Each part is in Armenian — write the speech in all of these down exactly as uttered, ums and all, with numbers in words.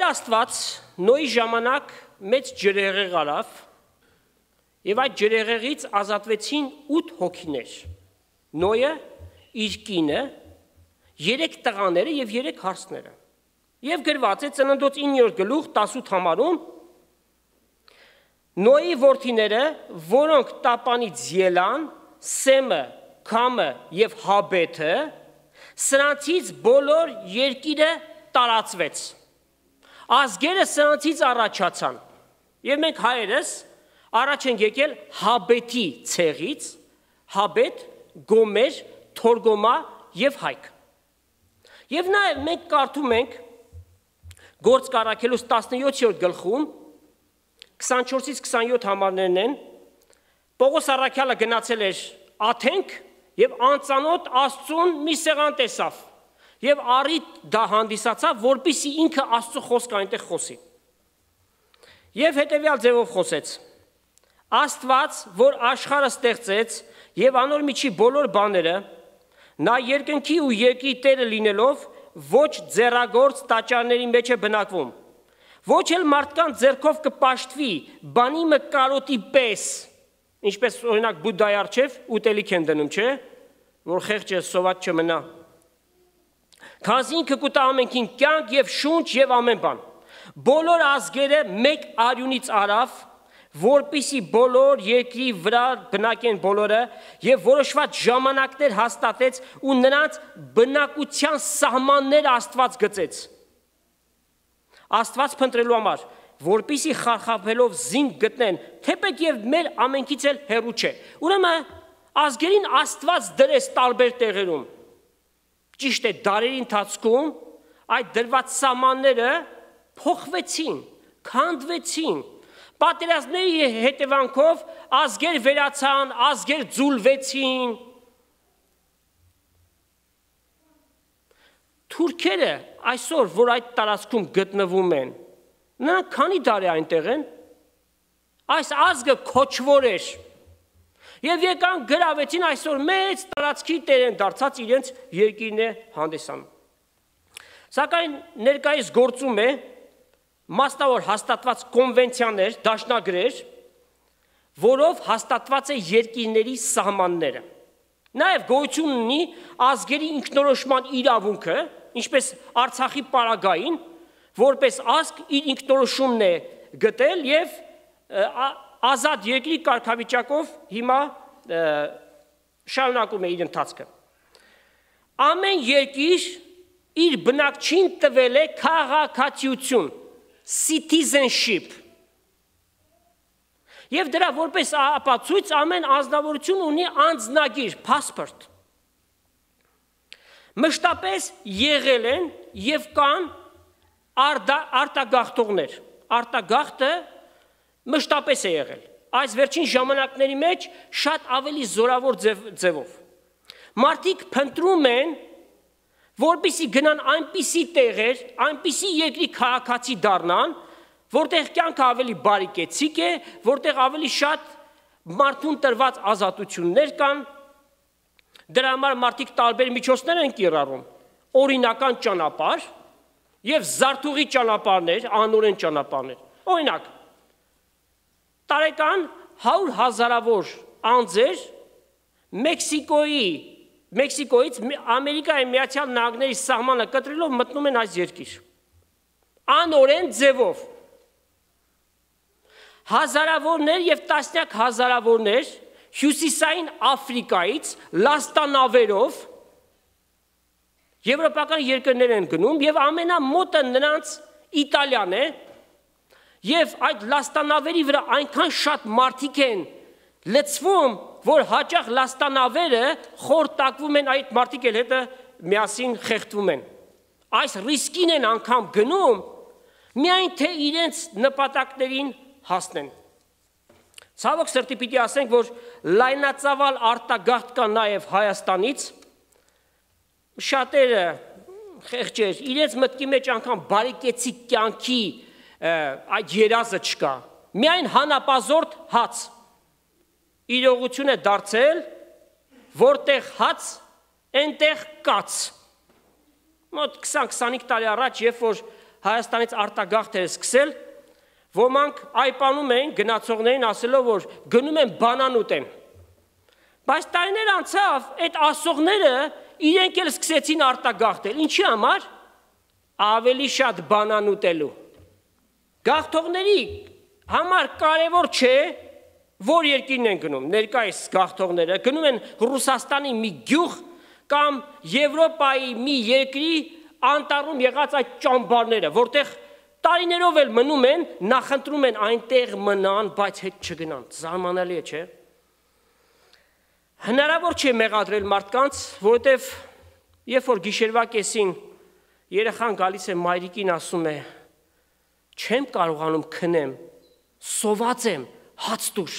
Տեր Աստված Նոյի ժամանակ մեծ ջրհեղեղ արավ եւ այդ ջրհեղեղից ազատվեցին ութ հոգիներ։ Նոյը, իր կինը, երեք տղաները եւ երեք հարսները։ Եվ գրված է Ծննդոց իններորդ գլուխ տասութ համարում Նոյի որդիները, որոնք տապանից ելան, Սեմը, Քամը եւ Հաբեթը, սրանցից բոլոր երկիրը տարածվեց։ Ազգերը սրանցից առաջացան։ Եվ մենք հայերս առաջ ենք եկել Հաբեթի ցեղից, Հաբեթ, Գոմեր, Թորգոմա եւ Հայք։ Եվ նաեւ մենք կարդում ենք Գործք առաքելուց տասնյոթերորդ գլխում քսանչորսից քսանյոթ համարներն են, Պողոս առաքյալը գնացել էր Աթենք եւ անծանոթ Աստծուն մի սեղան տեսավ եւ առիթ դա հանդիսացավ, որպեսզի ինքը Աստծո խոսքը այնտեղ խոսի։ Եվ հետեւյալ ձևով խոսեց. Աստված, որ աշխարհը ստեղծեց եւ անոր միջի բոլոր բաները, նա երկնքի ու երկրի Տերը լինելով, ոչ ձեռագործ տաճարների մեջ է բնակվում, ոչ էլ մարդկանց ձեռքով կպաշտվի, բանի մկարոտի պես, ինչպես օրինակ Բուդդայի առջև ուտելիք են դնում, չէ, որ խեղճը սոված չմնա։ Քանզի ինքը կուտա ամենքին կյանք եւ շունչ եւ ամեն բան։ Բոլոր ազգերը մեկ արյունից արավ, որպիսի բոլոր երկրի վրա բնակեն բոլորը եւ որոշված ժամանակներ հաստատեց ու նրանց բնակության սահմանները Աստված գծեց։ Աստված փնտրելու համար, որպիսի խարխափելով զինք գտնեն, թեպետ եւ մեր ամենքից էլ հեռու չէ։ Ուրեմն ազգերին Աստված դրեց տարբեր տեղերում։ Ճիշտ է, դարերի ընթացքում այդ դրված սահմանները փոխվեցին, քանդվեցին։ Պատերազմների հետևանքով ազգեր վերացան, ազգեր ձուլվեցին։ Թուրքերը այսօր, որ այդ տարածքում գտնվում են, նրանք քանի դար է այնտեղ են, այս ազգը քոչվոր էր, եւ եկան գրավեցին այսօր մեծ տարածքի տեր են դարձած իրենց երկիրն է հանդիսանում։ Սակայն ներկայիս գործում է մասնավոր հաստատված կոնվենցիաներ, դաշնագրեր, որով հաստատված է երկիրների սահմանները։ Նաև գոյություն ունի ազգերի ինքնորոշման իրավունքը, ինչպես Արցախի պարագային, որպես ազգ իր ինքնորոշումն է գտել եւ ազատ երկրի կարգավիճակով հիմա շարունակում է իր ընթացքը։ Ամեն երկիր իր բնակչին տվել է քաղաքացիություն, citizenship։ Եվ դրա որպես ապացույց ամեն անձնավորություն ունի անձնագիր, passport։ Մշտապես եղել են եւ կան արտագաղթողներ։ Արտագաղթը մշտապես է եղել։ Այս վերջին ժամանակների մեջ շատ ավելի զորավոր ձևով։ Մարդիկ փնտրում են, որպեսզի գնան այնպիսի տեղեր, այնպիսի երկրի քաղաքացի դառնան, որտեղ կյանքը ավելի բարեկեցիկ է, որտեղ ավելի շատ մարդուն տրված ազատություններ կան, դրա համար մարդիկ տարբեր միջոցներ են կիրառում, օրինական ճանապարհ եւ զարթուղի ճանապարհներ, անօրեն ճանապարհներ։ Օրինակ, տարեկան հարյուր հազարավոր անձեր Մեքսիկոյի Մեքսիկոյից Ամերիկայի Միացյալ Նահանգների սահմանը կտրելով մտնում են այս երկիր։ Անօրեն ձևով։ Հազարավորներ եւ տասնյակ հազարավորներ հյուսիսային Աֆրիկայից լաստանավերով եվրոպական երկրներ են գնում եւ ամենամոտը նրանց Իտալիան է եւ այդ լաստանավերի վրա այնքան շատ մարդիկ են լցվում, որ հաճախ լաստանավերը խորտակվում են, այդ մարդիկ էլ հետը միասին խեղդվում են։ Այս ռիսկին են անգամ գնում, միայն թե իրենց նպատակներին հասնեն։ Ցավոք սրտի պիտի ասենք, որ լայնածավալ արտագաղթ կա նաև Հայաստանից, շատերը խեղճեր, իրենց մտքի մեջ անգամ բարեկեցիկ կյանքի այդ երազը չկա, միայն հանապազորդ հաց, իրողություն է դարձել, որտեղ հաց, այնտեղ կաց։ Մոտ քսան քսանհինգ տարի առաջ, երբ որ Հայաստանից արտագաղթ էր սկսել, ոմանք այպանում էին գնացողներին ասելով, որ գնում են բանան ուտեն։ Բայց տարիներ անցավ, այդ ասողները իրենք էլ սկսեցին արտագաղթել։ Ինչի համար? Ավելի շատ բանան ուտելու։ Գաղթողների համար կարևոր չէ, որ երկիրն են գնում, ներկայիս գաղթողները գնում են Ռուսաստանի մի գյուղ կամ Եվրոպայի մի երկրի անտառում եղած այդ ճամբարները, որտեղ տարիներով էլ մնում են, նախընտրում են այնտեղ մնան, բայց հետ չգնան։ Զարմանալի է, չէ՞։ Հնարավոր չէ մեղադրել մարդկանց, որովհետև երբ որ գիշերվա կեսին երեխան գալիս է մայրիկին ասում է. չեմ կարողանում քնեմ, սոված եմ, հաց տուր։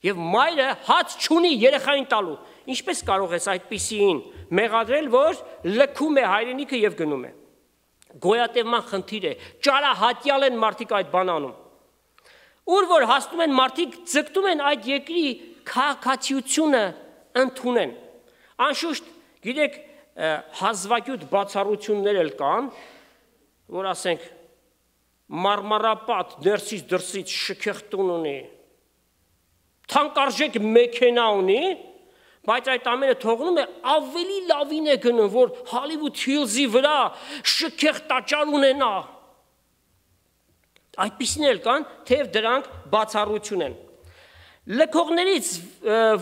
Եվ մայրը հաց չունի երեխային տալու։ Ինչպես կարող ես այդպիսին մեղադրել, որ լքում է հայրենիքը եւ գնում է։ Գոյատևման խնդիր է, ճարահատյալ են մարդիկ այդ բան անում։ Ուր որ հասնում են մարդիկ ձգտում են այդ երկրի քաղաքացիությունը ընդունեն։ Անշուշտ, գիտեք, հազվագյուտ բացառություններ էլ կան, որ ասենք մարմարապատ ներսից դրսից շքեղտուն ունի, թանկարժեք մեքենա ունի, բայց այդ ամենը թողնում է ավելի լավին է գնում, որ Հոլիվուդ Հիլզի վրա շքեղտաճար ունենա։ Այդպիսին էլ կան, թեև դրանք բացառություն են։ Լքողներից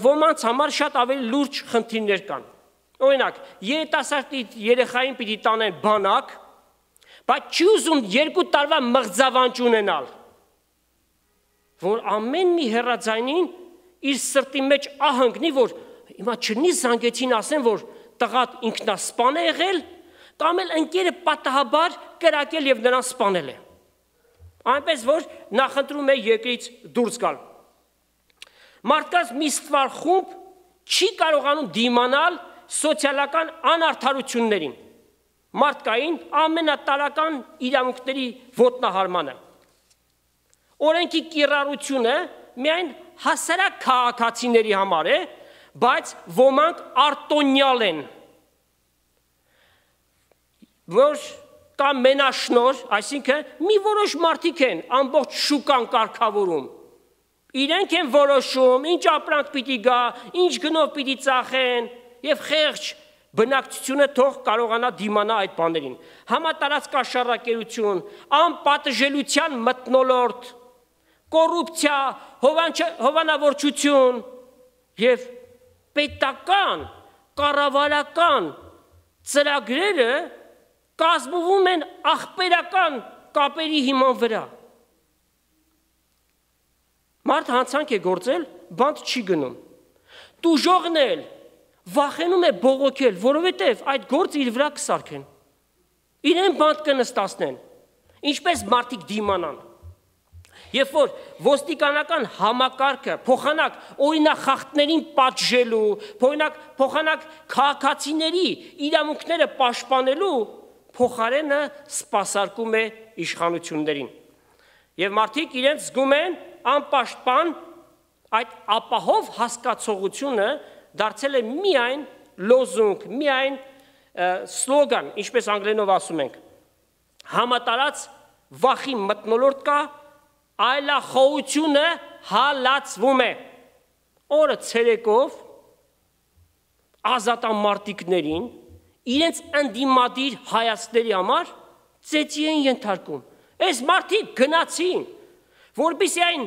ոմանց համար շատ ավելի լուրջ խնդիրներ կան։ Օրինակ, երիտասարդի երեխային պիտի տանեն բանակ, բայց չի ուզում երկու տարվա մղձավանջ ունենալ, որ ամեն մի հեռաձայնին իր սրտի մեջ ահանգնի, որ հիմա չնի զանգեցին ասեն, որ տղատ ինքնասպան է եղել, կամ էլ ընկերը պատահաբար կրակել եւ նրան սպանել է։ Այնպես որ նախընտրում է երկրից դուրս գալ։ Մարդկանց մի ստվար խումբ չի կարողանում դիմանալ սոցիալական անարդարություններին, մարդկային ամենատարական իրավունքների ոտնահարմանը։ Օրենքի կիրառությունը միայն հասարակ քաղաքացիների համար է, բայց ոմանք արտոնյալ են, որ կամ մենաշնոր, այսինքն մի որոշ մարդիկ են ամբողջ շուկան կարգավորում։ Իրենք են որոշում, ինչ ապրանք պիտի գա, ինչ գնով պիտի ծախեն, եւ խեղճ բնակչությունը թող կարողանա դիմանա այդ բաներին։ Համատարած կաշառակերություն, անպատժելիության մթնոլորտ, կոռուպցիա, հովանավորչություն եւ պետական, կառավարական ծրագրերը կազմվում են ախպերական կապերի հիման վրա։ Մարդ հանցանք է գործել, բանտ չի գնում։ Տուժողն էլ վախենում է բողոքել, որովհետև այդ գործը իր վրա կսարքեն։ Իրեն բանտ կնստացնեն։ Ինչպես մարդիկ դիմանան։ Երբ որ ոստիկանական համակարգը փոխանակ օրինախախտներին պատժելու, փոխանակ փոխանակ քաղաքացիների իրավունքները պաշտպանելու, փոխարենը սպասարկում է իշխանություններին։ Եվ մարդիկ իրենց զգում են անպաշտպան, այդ ապահով հասկացողությունը դարձել է միայն լոզունգ, միայն սլոգան, ինչպես անգլերենով ասում ենք։ Համատարած վախի մթնոլորտ կա, այլախոհությունը հալածվում է։ Օրը ցերեկով ազատամարտիկներին իրենց ընդդիմադիր հայացքների համար ծեծի են ենթարկում։ Այս մարդիկ գնացին, որպեսզի այն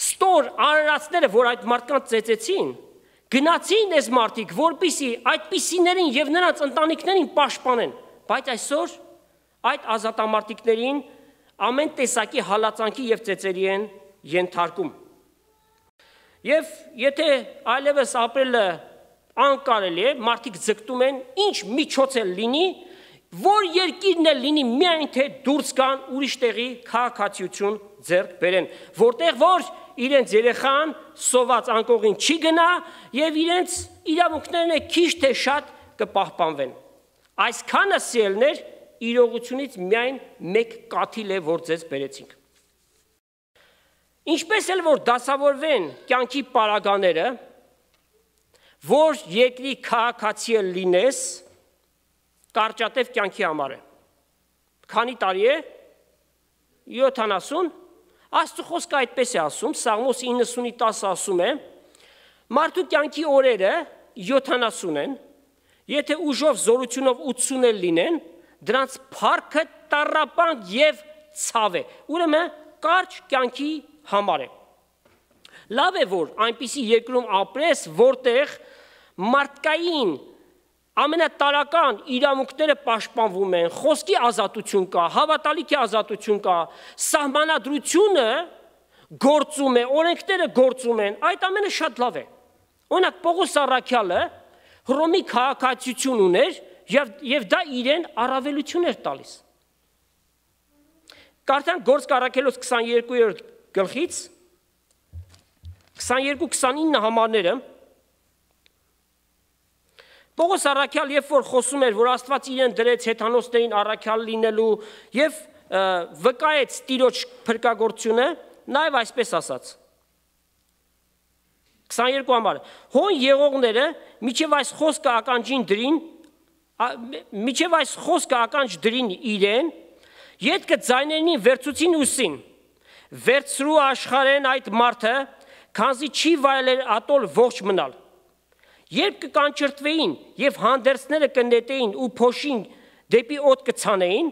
ստոր արարածները, որ այդ մարդկանց ծեծեցին, գնացին այս մարդիկ, որպեսզի այդպիսիներին եւ նրանց ընտանիքներին պաշտպանեն, բայց այսօր այդ ազատամարտիկներին ամեն տեսակի հալածանքի եւ ծեծերի են ենթարկում։ Եվ եթե այլևս ապրելը անկարելի է, մարդիկ ձգտում են ինչ միջոց էլ լինի, որ երկիրն էլ լինի միայն թե դուրս գան ուրիշ տեղի քաղաքացիություն ձեռք բերեն, որտեղ որ իրենց երեխան սոված անկողին չի գնա եւ իրենց իրավունքներն է քիչ թե շատ կպահպանվեն։ Այսքանը սիրելներ իրողությունից միայն մեկ կաթիլ է, որ ձեզ բերեցինք։ Ինչպես էլ որ դասավորվեն կյանքի պարագաները, որ երկրի քաղաքացի լինես, կարճատև կյանքի համար է։ քանի տարի է, յոթանասուն, Աստծո խոսքը այդպես է ասում, Սաղմոս իննսունի տասը ասում է, մարդու կյանքի օրերը յոթանասուն են, եթե ուժով զորությունով ութսուն էլ լինեն, դրանց փառքը տառապանք եւ ցավ է, ուրեմն կարճ կյանքի համար է։ Լավ է, որ այնպիսի երկրում ապրես, որտեղ մարդկային ամենատարական իրավունքները պաշտպանվում են, խոսքի ազատություն կա, հավատալիքի ազատություն կա, սահմանադրությունը գործում է, օրենքները գործում են, այդ ամենը շատ լավ է։ Օրինակ Պողոս առաքյալը Հռոմի քաղաքացիություն ուներ եւ, եւ դա իրեն առավելություն էր տալիս։ Կարդանք Գործք առաքելոց քսաներկուերորդ գլխից քսաներկու քսանինը համարները Պողոս առաքյալ երբ որ խոսում էր, որ Աստված իրեն դրեց հեթանոսներին առաքյալ լինելու եւ վկայեց Տիրոջ փրկagorցությունը, նաեւ այսպես ասաց։ քսաներկու համարը Հոն եղողները միջև այս խոսքը ականջին դրին, միջև այս խոսքը ականջ դրին իրեն, ետքը ձայներին վերցուցին ուսին, վերցրու աշխարհեն այդ մարդը, քանզի չի վայելել ատոլ ողջ մնալ։ Երբ կկանչրտվեին եւ հանդերձները կնետեին ու փոշին դեպի օդ կցանեին,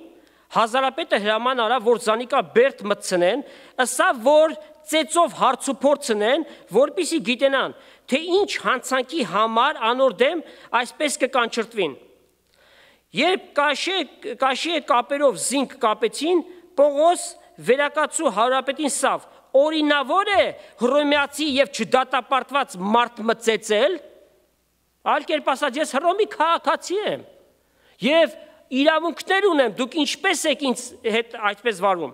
հազարապետը հրաման արավ, որ զանիկա բերդ մտցնեն, ըսա որ ծեծով հարցուփորձնեն, որպիսի գիտենան, թե ինչ հանցանքի համար անոր դեմ այսպես կկանչրտվին։ Երբ կաշե կաշե կապերով զինք կապեցին, Պողոս վերակացու հարապետին սավ, օրինավոր է հռոմեացի եւ չդատապարտված մարդ մծեցել, այլ կերպ ասած ես Հռոմի քաղաքացի եմ եւ իրավունքներ ունեմ, դուք ինչպես եք ինձ հետ այդպես վարվում։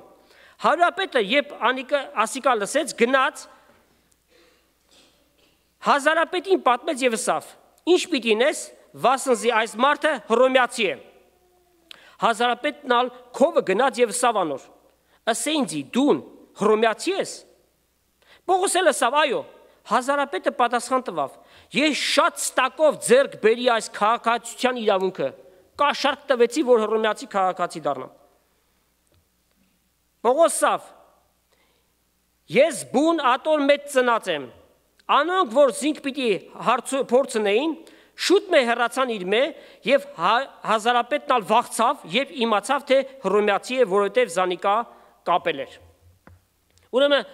Հարապետը երբ անիկը ասիկա լսեց, գնաց հազարապետին պատմեց եւ ասավ. Ինչ պիտի նես, վասնզի այս մարդը հռոմեացի է։ Հազարապետն ալ քովը գնաց եւ ասավ անոր. Ասեինձի դուն հռոմեացի ես։ Պողոս էլ ասավ, այո։ Հազարապետը պատասխան տվավ. Ես շատ ստակով ձեռք բերի այս քաղաքացիության իրավունքը, կաշառք տվեցի, որ հռոմեացի քաղաքացի դառնամ։ Պողոսավ, ես բուն ատոր մեծ ծնած եմ, անոնք, որ զինք պիտի փորձնեին, շուտ մե հեռացան իր մե եւ հազարապետն ալ վախցավ եւ իմացավ, թե հռոմեացի է, որովհետեւ զանիկա կապել էր։ Ուրեմն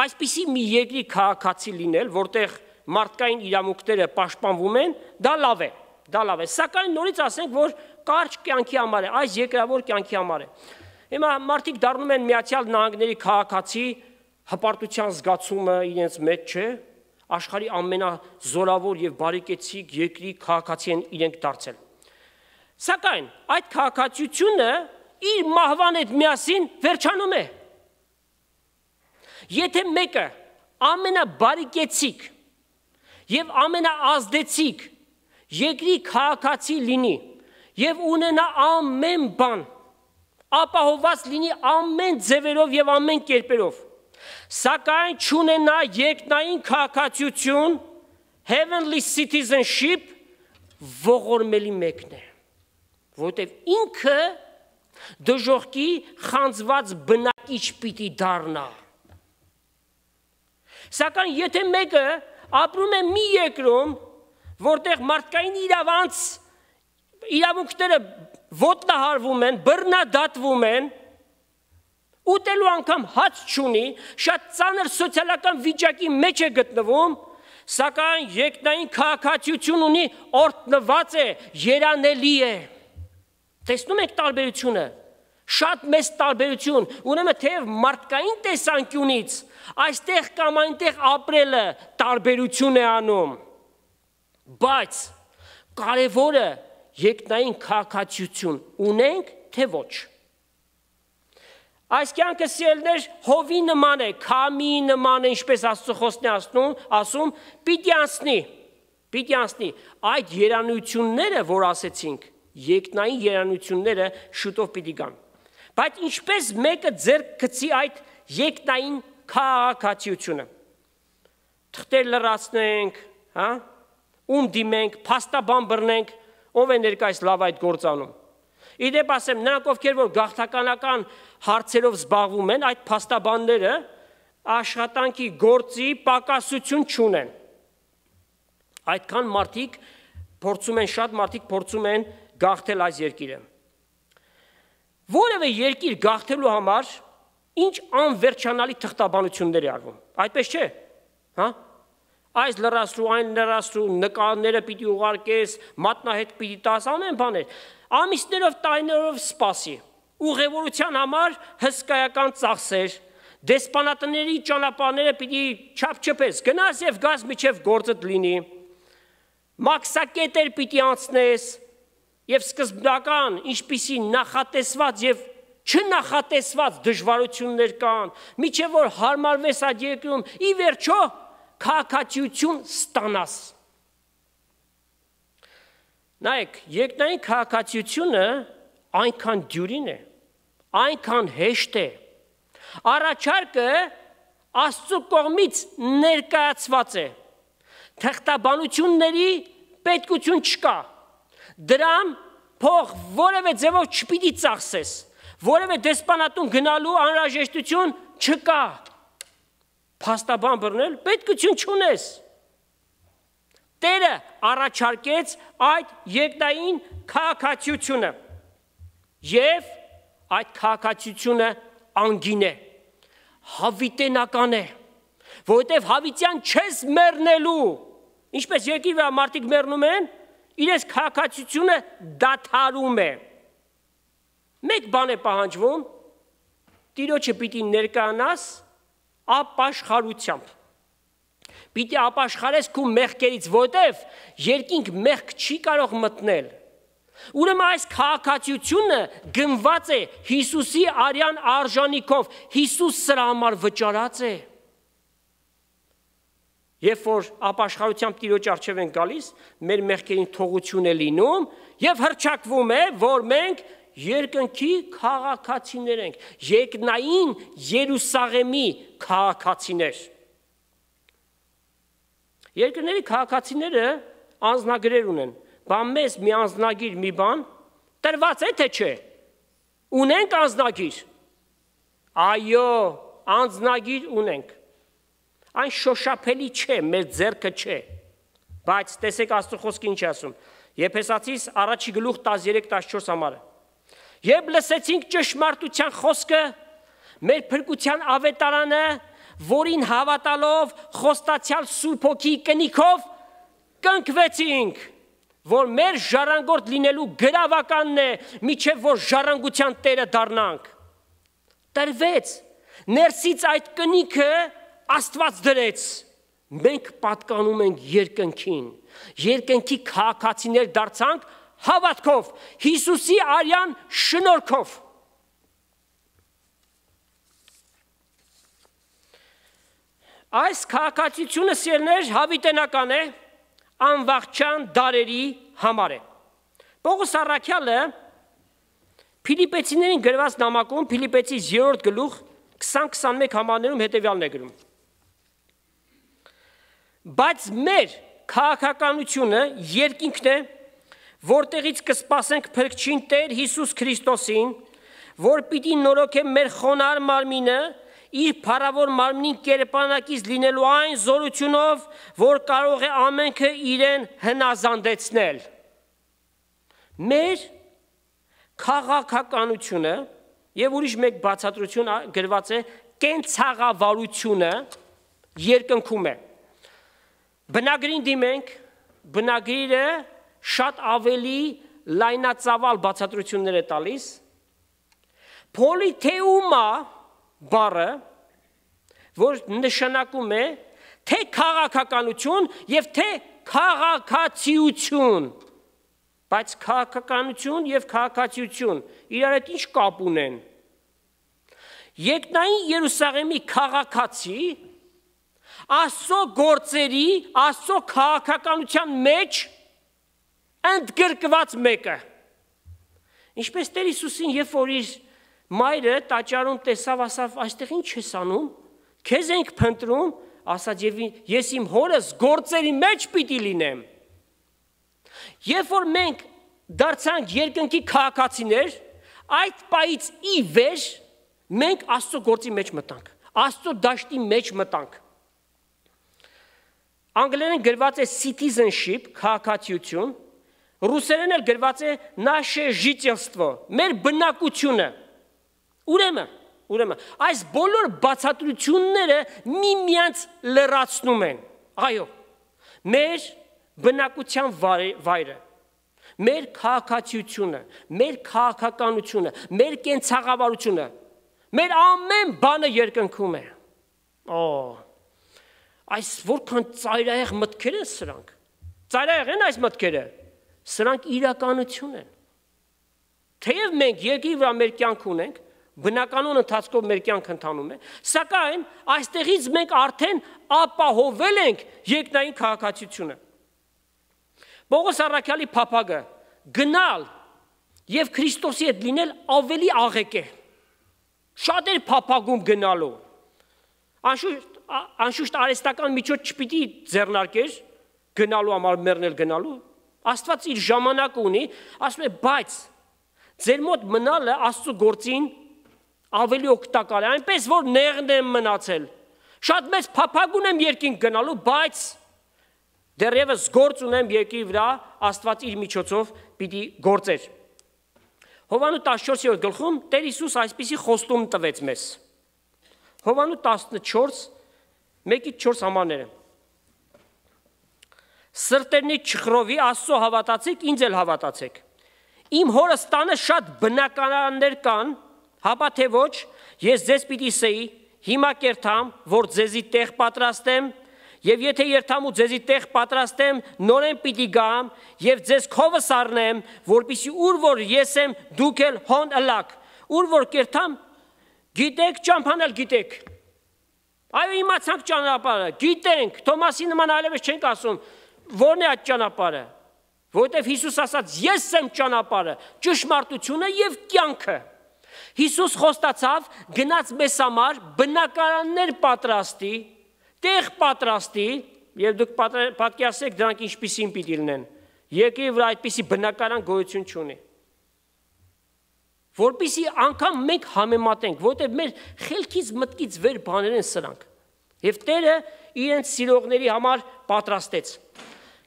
այսպիսի մի երկրի քաղաքացի լինել, որտեղ մարդկային իրավունքները պաշտպանվում են, դա լավ է, դա լավ է։ Սակայն նորից ասենք, որ կարճ կյանքի համար է, այս երկրավոր կյանքի համար է։ Հիմա մարդիկ դառնում են Միացյալ Նահանգների քաղաքացի, հպարտության զգացումը իրենց մեջ չէ, աշխարհի ամենազորավոր եւ բարեկեցիկ երկրի քաղաքացի են իրենք դարձել։ Սակայն այդ քաղաքացիությունը իր մահվան հետ միասին վերջանում է։ Եթե մեկը ամենաբարեկեցիկ եւ ամենաազդեցիկ երկրի քաղաքացի լինի եւ ունենա ամեն բան, ապահովված լինի ամեն ձևերով եւ ամեն կերպերով, սակայն չունենա երկնային քաղաքացիություն, heavenly citizenship, ողորմելի մեկն է, որտեւ ինքը դժողքի խանձված բնակիչ պիտի դառնա։ Սակայն եթե մեկը ապրում է մի երկրում, որտեղ մարդկային իրավանց իրավունքները ոտնահարվում են, բռնադատվում են, ուտելու անգամ հաց չունի, շատ ծանր սոցիալական վիճակի մեջ է գտնվում, սակայն երկնային քաղաքացիություն ունի, օրհնված է, երանելի է։ Տեսնում եք տարբերությունը, շատ մեծ տարբերություն, ուրեմն թեև մարդկային տեսանկյունից այստեղ կամ այնտեղ ապրելը տարբերություն է անում, բայց կարևորը երկնային քաղաքացիություն ունենք, թե ոչ։ Այս կյանքը սիրելիներ հովի նման է, քամի նման է, ինչպես Աստծո խոսքն է ասում, ասում, պիտի անցնի, պիտի անցնի։ Այդ երանությունները, որ ասեցինք, երկնային երանությունները շուտով պիտի գան։ Բայց ինչպես մեկը ձեռք գցի այդ երկնային քաղաքացիությունը։ Թղթեր լրացնենք, հա, ում դիմենք, փաստաբան բռնենք, Ով է ներկայիս լավ այդ գործանում։ Իդեպ ասեմ, նրանք ովքեր որ գաղթականական հարցերով զբաղվում են, այդ փաստաբանները աշխատանքի գործի պակասություն չունեն։ Այդքան մարդիկ փորձում են, շատ մարդիկ փորձում են գաղթել այս երկիրը։ Որևէ երկիր գաղթելու համար ինչ անվերջանալի թղթաբանություններ է արվում։ Այդպես չէ, հա՞։ Այս լրացրու, այն լրացրու, նկարները պիտի ուղարկես, մատնահետ պիտի տաս, ամեն բաներ։ Ամիսներով, տարիներով սպասի։ Ուղևորության համար հսկայական ծախսեր, դեսպանատների ճանապարհները պիտի չափչփես, գնաս եւ գաս միջև գործդ լինի։ Մաքսակետեր պիտի անցնես եւ սկզբնական ինչպիսի նախատեսված եւ չնախատեսված դժվարություններ կան, միջև որ հարմարվես այդ երկրում, ի վերջո քաղաքացիություն ստանաս։ Նայեք, երկնային քաղաքացիությունը այնքան դյուրին է, այնքան հեշտ է։ Առաջարկը Աստծո կողմից ներկայացված է։ Թղթաբանությունների պետքություն չկա։ Դրան փող որևէ ձևով չպիտի ծախսես, որևէ դեսպանատուն գնալու անհրաժեշտություն չկա։ Փաստաբան բռնել պետքություն չունես։ Տերը առաջարկեց այդ երկնային քաղաքացիությունը եւ այդ քաղաքացիությունը անգին է, հավիտենական է, որովհետեւ հավիտյան չես մեռնելու։ Ինչպես երկրի վրա մարդիկ մեռնում են, իրենց քաղաքացիությունը դադարում է։ Մեկ բան է պահանջվում, Տիրոջը պիտի ներկայանաս ապաշխարությամբ։ Պիտի ապաշխարես քո մեղքերից, որովհետև երկինք մեղք չի կարող մտնել։ Ուրեմն այս քաղաքացիությունը գնված է Հիսուսի արյան արժանիքով, Հիսուս սրա համար վճարած է։ Երբ որ ապաշխարությամբ Տիրոջ առջև են գալիս, մեր մեղքերին թողություն է լինում եւ հռչակվում է, որ մենք երկնքի քաղաքացիներ ենք, երկնային Երուսաղեմի քաղաքացիներ։ Երկրների քաղաքացիները անձնագրեր ունեն, բան մեզ մի անձնագիր մի բան տրված է թե չէ։ Ունենք անձնագիր։ Այո, անձնագիր ունենք։ Այն շոշափելի չէ, մեր ձեռքը չէ։ Բայց տեսեք Աստծո խոսքը ինչ է ասում։ Եփեսացիս առաջի գլուխ տասներեք տասնչորս համարը։ Երբ լսեցինք ճշմարտության խոսքը, մեր փրկության ավետարանը, որին հավատալով խոստացյալ Սուրբ Հոգի կնիքով կնքվեցինք, որ մեր ժառանգորդ լինելու գրավականն է, միջև որ ժառանգության տերը դառնանք։ Տրվեց, ներսից այդ կնիքը Աստված դրեց, մենք պատկանում ենք երկնքին, երկնքի քաղաքացիներ դարձանք հավատքով, Հիսուսի արյան շնորհքով։ Այս քաղաքացիությունը սիրներ հավիտենական է, անվախճան դարերի համար է։ Պողոս առաքյալը Փիլիպեցիներին գրված նամակում Փիլիպեցիս երրորդ գլուխ քսան քսանմեկ համարներում հետևյալն է գրում. Բայց մեր քաղաքականությունը երկինքն է, որտեղից կսպասենք փրկչին Տեր Հիսուս Քրիստոսին, որ պիտի նորոգե մեր խոնար մարմինը իր փառավոր մարմնին կերպանակից լինելու այն զորությունով, որ կարող է ամենքը իրեն հնազանդեցնել։ Մեր քաղաքականությունը եւ ուրիշ մեկ բացատրություն գրված է կենցաղավարությունը երկնքում է։ Բնագրին դիմենք, բնագրիրը շատ ավելի լայնածավալ բացատրություններ է տալիս։ Պոլիթեումա բառը, որ նշանակում է թե քաղաքականություն եւ թե քաղաքացիություն, բայց քաղաքականություն եւ քաղաքացիություն իրար հետ ինչ կապ ունեն։ Երկնային Երուսաղեմի քաղաքացի Աստծո գործերի, Աստծո քաղաքականության մեջ ընդգրկված մեկը։ Ինչպես Տեր Հիսուսին, երբ որ իր մայրը տաճարում տեսավ, ասավ, այստեղ ինչ ես անում, քեզ ենք փնտրում, ասաց, ես իմ հորս գործերի մեջ պիտի լինեմ։ Երբ որ մենք դարձանք երկնքի քաղաքացիներ, այդ պայից ի վեր մենք Աստծո գործի մեջ մտանք, Աստծո դաշտի մեջ մտանք։ Անգլերեն գրված է citizenship, քաղաքացիություն, ռուսերեն էլ գրված է наше жительство, մեր բնակությունը։ Ուրեմն, ուրեմն, այս բոլոր բացատրությունները միմյանց լրացնում են։ Այո, մեր բնակության վայրը, մեր քաղաքացիությունը, մեր քաղաքականությունը, մեր կենցաղավարությունը, մեր ամեն բանը երկնքում է։ Օ, այս որքան ծայրահեղ մտքեր են սրանք։ Ծայրահեղ են այս մտքերը։ Սրանք իրականություն են։ Թեև մենք երկրի վրա մեր կյանք ունենք, բնականոն ընթացքով մեր կյանք ընթանում է, սակայն այստեղից մենք արդեն ապահովել ենք երկնային քաղաքացիությունը։ Պողոս առաքյալի փափագը գնալ եւ Քրիստոսի հետ լինել ավելի աղեկ է։ Շատեր փափագում գնալու։ Անշուշտ անշուշտ արհեստական միջոց չպիտի ձեռնարկեր գնալու համար մեռնել գնալու։ Աստված իր ժամանակը ունի, ասում է, բայց ձեր մոտ մնալը Աստծո գործին ավելի օգտակար է, այնպես որ նեղն եմ մնացել։ Շատ մեծ փափագ ունեմ երկինք գնալու, բայց դեռևս գործ ունեմ երկրի վրա, Աստված իր միջոցով պիտի գործեր։ Հովանու տասնչորսերորդ գլխում Տեր Հիսուս այսպիսի խոստում տվեց մեզ։ Հովանու տասնչորս, մեկից չորս համարները։ Սրտերնից չխռովի, Աստծո հավատացեք, ինձ էլ հավատացեք։ Իմ հորս տանը շատ բնականաններ կան, հապա թե ոչ, ես ձեզ պիտի ասեի, հիմա կերթամ, որ ձեզի տեղ պատրաստեմ, եւ եթե երթամ ու ձեզի տեղ պատրաստեմ, նորեն պիտի գամ եւ ձեզ քովս առնեմ, որպեսզի ուր որ ես եմ, դուք էլ հոն ըլակ։ Ուր որ կերթամ, գիտեք, ճամփանել գիտեք։ Այո, իմացանք ճանապարհը, գիտենք, Թոմասի նման այլևս չենք ասում, ո՞րն է այդ ճանապարհը։ Որովհետև Հիսուս ասաց, ես եմ ճանապարհը, ճշմարտությունը եւ կյանքը։ Հիսուս խոստացավ, գնաց մեզ համար բնականաններ պատրաստի, տեղ պատրաստի, եւ դուք պատկերացրեք դրանք ինչպիսին պիտի լինեն։ Երկրի վրա այդպիսի բնականան գոյություն չունի։ Որպեսզի անգամ մենք համեմատենք, որովհետև մեր խելքից մտքից վեր բաներ են սրանք։ Եվ Տերը իրենց սիրողների համար պատրաստեց։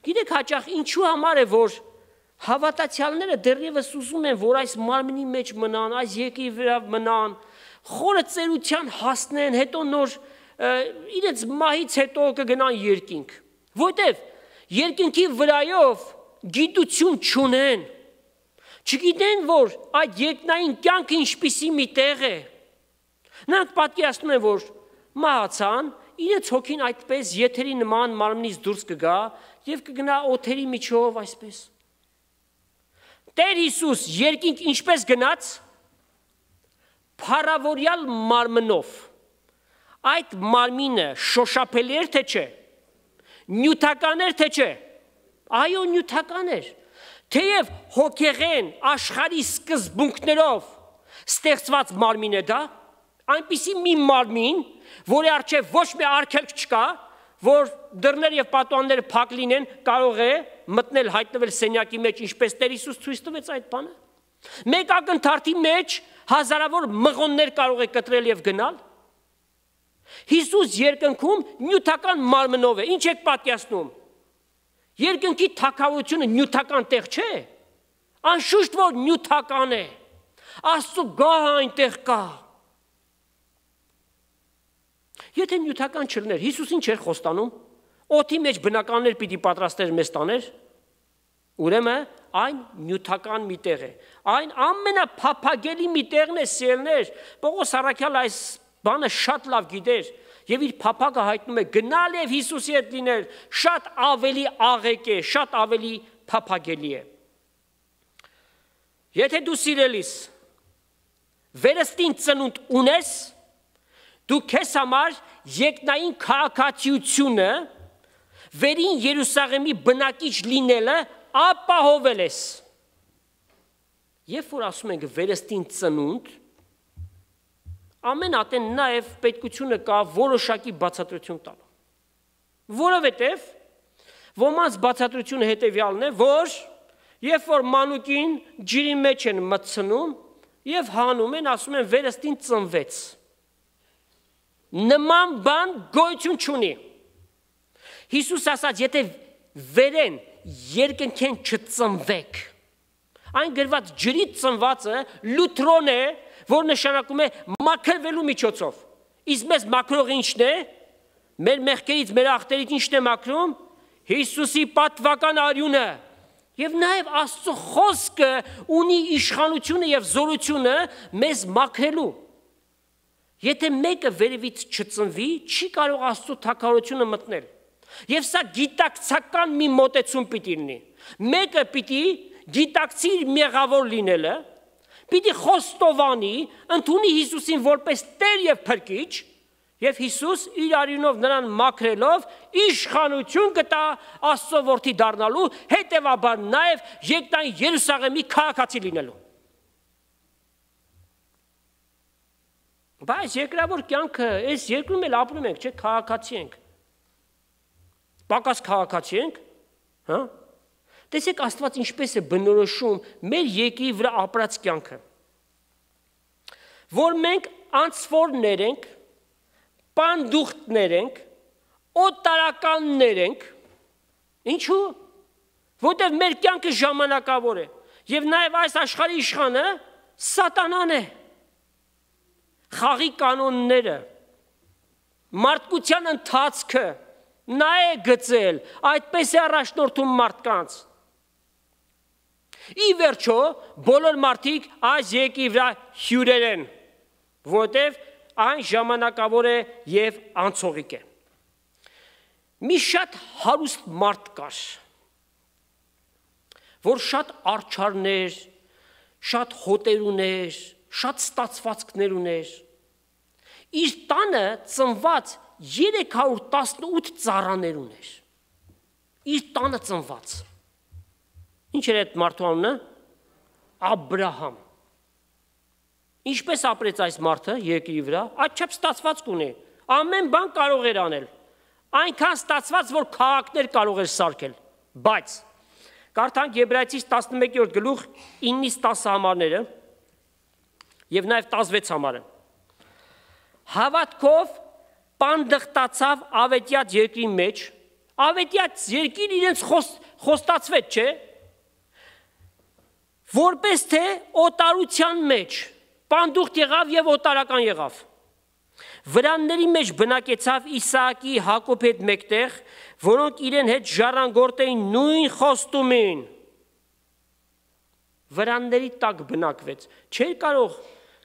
Գիտեք հաճախ ինչու համար է, որ հավատացյալները դեռևս ուզում են, որ այս մարմնի մեջ մնան, այս երկրի վրա մնան, խորը ծերության հասնեն, հետո նոր իրենց մահից հետո կգնան երկինք։ Որտեվ երկինքի վրայով գիտություն չունեն։ Չգիտեն, որ այդ երկնային կյանքը ինչպիսի մի տեղ է։ Նրանք պատկերացնում են, որ մահացան, իրենց հոգին այդպես եթերի նման մարմնից դուրս կգա եւ կգնա օթերի միջով այսպես։ Տեր Հիսուս երկինք ինչպես գնաց, փառավորյալ մարմնով։ Այդ մարմինը շոշափելի էր թե չէ, նյութական էր թե չէ, այո նյութական էր, թեև հոգեղեն աշխարհի սկզբունքներով ստեղծված մարմին է դա, այնպիսի մի մարմին, որի առջև ոչ մի արգելք չկա, որ դռներ եւ պատուհանները փակ լինեն, կարող է մտնել հայտնվել սենյակի մեջ, ինչպես Տեր Հիսուս ցույց տվեց այդ բանը։ Մեկ ակնթարթի մեջ հազարավոր մղոններ կարող է կտրել եւ գնալ։ Հիսուս երկնքում նյութական մարմնով է, ինչ եք պատկերացնում։ Երկնքի թագավորությունը նյութական տեղ չէ։ Անշուշտ որ նյութական է։ Աստծո գահը այնտեղ կա։ Եթե նյութական չլներ, Հիսուս ինչ էր խոստանում։ Օդի մեջ բնականներ պիտի պատրաստեր մեզ տաներ։ Ուրեմն այն նյութական մի տեղ է։ Այն ամենափափագելի մի տեղն է, սիրելներ։ Պողոս առաքյալը այս բանը շատ լավ գիտեր եւ իր փափագը հայտնում է գնալ եւ Հիսուսի հետ լինել շատ ավելի աղեկ է, շատ ավելի փափագելի է։ Եթե դու սիրելիս վերստին ծնունդ ունես, դու քեզ համար երկնային քաղաքացիությունը վերին Երուսաղեմի բնակիչ լինելը ապահովել ես։ Երբ որ ասում ենք վերստին ծնունդ, ամեն ատեն նաև պետքությունը կա որոշակի բացատրություն տալ։ Որովհետև ոմանց բացատրությունը հետևյալն է, որ Երբ որ մանուկին ջրի մեջ են մտցնում եւ հանում են, ասում են վերստին ծնվեց։ Նման բան գոյություն չունի։ Հիսուս ասաց, եթե վերեն երկնքեն չծնվեք։ Այն գրված ջրից ծնվածը լութրոն է, որ նշանակում է մաքրվելու միջոցով։ Իսկ մեզ մաքրող ինչն է։ Մեր մեղքերից, մեր ախտերից ինչն է մաքրում։ Հիսուսի պատվական արյունը։ Եվ նաև Աստծո խոսքը ունի իշխանությունը եւ զորությունը մեզ մաքրելու։ Եթե մեկը վերևից չծնվի, չի կարող Աստծո թագավորությունը մտնել։ Եվ սա գիտակցական մի մոտեցում պիտի լինի։ Մեկը պիտի գիտակցի իր մեղավոր լինելը, պիտի խոստովանի, ընդունի Հիսուսին որպես Տեր եւ Փրկիչ, եւ Հիսուս իր արյունով նրան մաքրելով իշխանություն կտա Աստծո որդի դառնալու, հետեւաբար նաեւ երկնային Երուսաղեմի քաղաքացի լինելու։ Բայց երկրավոր կյանքը, այս երկրում էլ ապրում ենք, չէ՞, քաղաքացի ենք։ Պակաս քաղաքացի ենք, հա՞։ Տեսեք Աստված ինչպես է բնորոշում մեր երկրի վրա ապրած կյանքը։ Որ մենք անցվորներ ենք, պանդուխտներ ենք, օտարականներ ենք, ինչու՞։ Որտեղ մեր կյանքը ժամանակավոր է, եւ նաեւ այս աշխարհի իշխանը սատանան է։ Խաղի կանոնները, մարդկության ընթացքը նա է գծել, այդպես է առաջնորդում մարդկանց։ Ի վերջո, բոլոր մարդիկ այս երկրի վրա հյուրեր են, որտեղ այն ժամանակավոր է եւ անցողիկ է։ Մի շատ հարուստ մարդ կար, որ շատ արջարներ, շատ հոտեր ուներ, շատ ստացվածքներ ուներ։ Իր տանը ծնված երեք հարյուր տասնութ ծառաներ ուներ։ Իր տանը ծնված։ Ինչ էր այդ մարդու անունը։ Աբրահամ։ Ինչպես ապրեց այս մարդը երկրի վրա, այդչափ ստացվածք ունի։ Ամեն բան կարող էր անել։ Այնքան ստացված, որ քաղաքներ կարող էր սարքել։ Բայց կարդանք Եբրայեցիս տասնմեկերորդ գլուխ իննից տասը համարները եւ նաեւ տասնվեց համարը։ Հավատքով պանդխտացավ ավետյաց երկրի մեջ, ավետյաց երկիր իրենց խոստացվեց, չէ՞։ Որպես թե օտարության մեջ, պանդուխտ եղավ եւ օտարական եղավ։ Վրանների մեջ բնակեցավ Իսահակի, Հակոբի հետ մեկտեղ, որոնք իրեն հետ ժառանգորդ էին նույն խոստումին։ Վրանների տակ բնակվեց, չէր կարող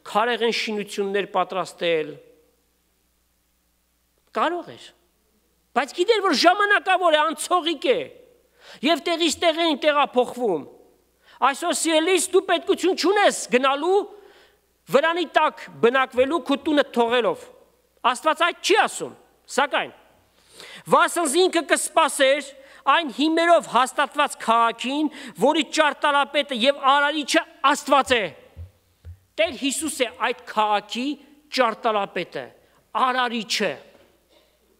քարեղեն շինություններ պատրաստել։ Կարող էր, բայց գիտեր, որ ժամանակավոր է, անցողիկ է, եւ տեղից տեղ են տեղափոխվում։ Այսօր սիրելիս դու պետքություն չունես գնալու վրանի տակ բնակվելու քո տունը թողելով։ Աստված այդ չի ասում, սակայն վասնզի ինքը կսպասեր այն հիմերով հաստատված քաղաքին, որի ճարտարապետը եւ արարիչը Աստված է։ Տեր Հիսուս է այդ քաղաքի ճարտարապետը, արարիչը։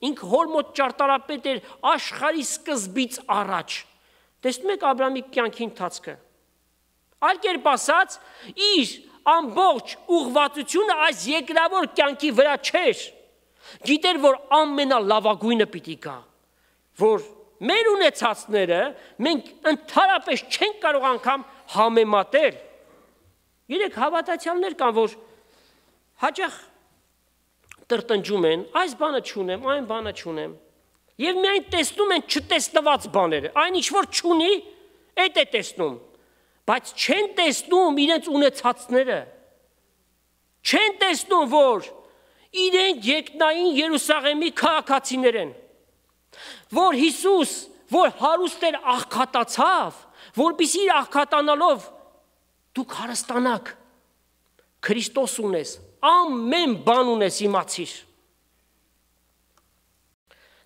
Ինքը հոր մոտ ճարտարապետ էր աշխարհի սկզբից առաջ։ Տեսնում եք Աբրահամի կյանքի ընթացքը։ Այլ կերպ ասած, իր ամբողջ ուղղվածությունը այս երկրավոր կյանքի վրա չէր։ Գիտեր, որ ամենալավագույնը պիտի գա, որ մեր ունեցածները մենք ընդհանրապես չենք կարող անգամ համեմատել։ Երեք հավատացյալներ կան, որ հաճախ տրտնջում են, այս բանը չունեմ, այն բանը չունեմ։ Եվ միայն տեսնում են չտեսնված բաները, այն ինչ որ չունի, այդ է տեսնում, բայց չեն տեսնում իրենց ունեցածները։ Չեն տեսնում, որ իրենք երկնային Երուսաղեմի քաղաքացիներ են, որ Հիսուս, որ հարուստ էր աղքատացավ, որպեսզի իր աղքատանալով դուք հարստանաք, Քրիստոս ունես, ամեն բան ունես, իմացիր։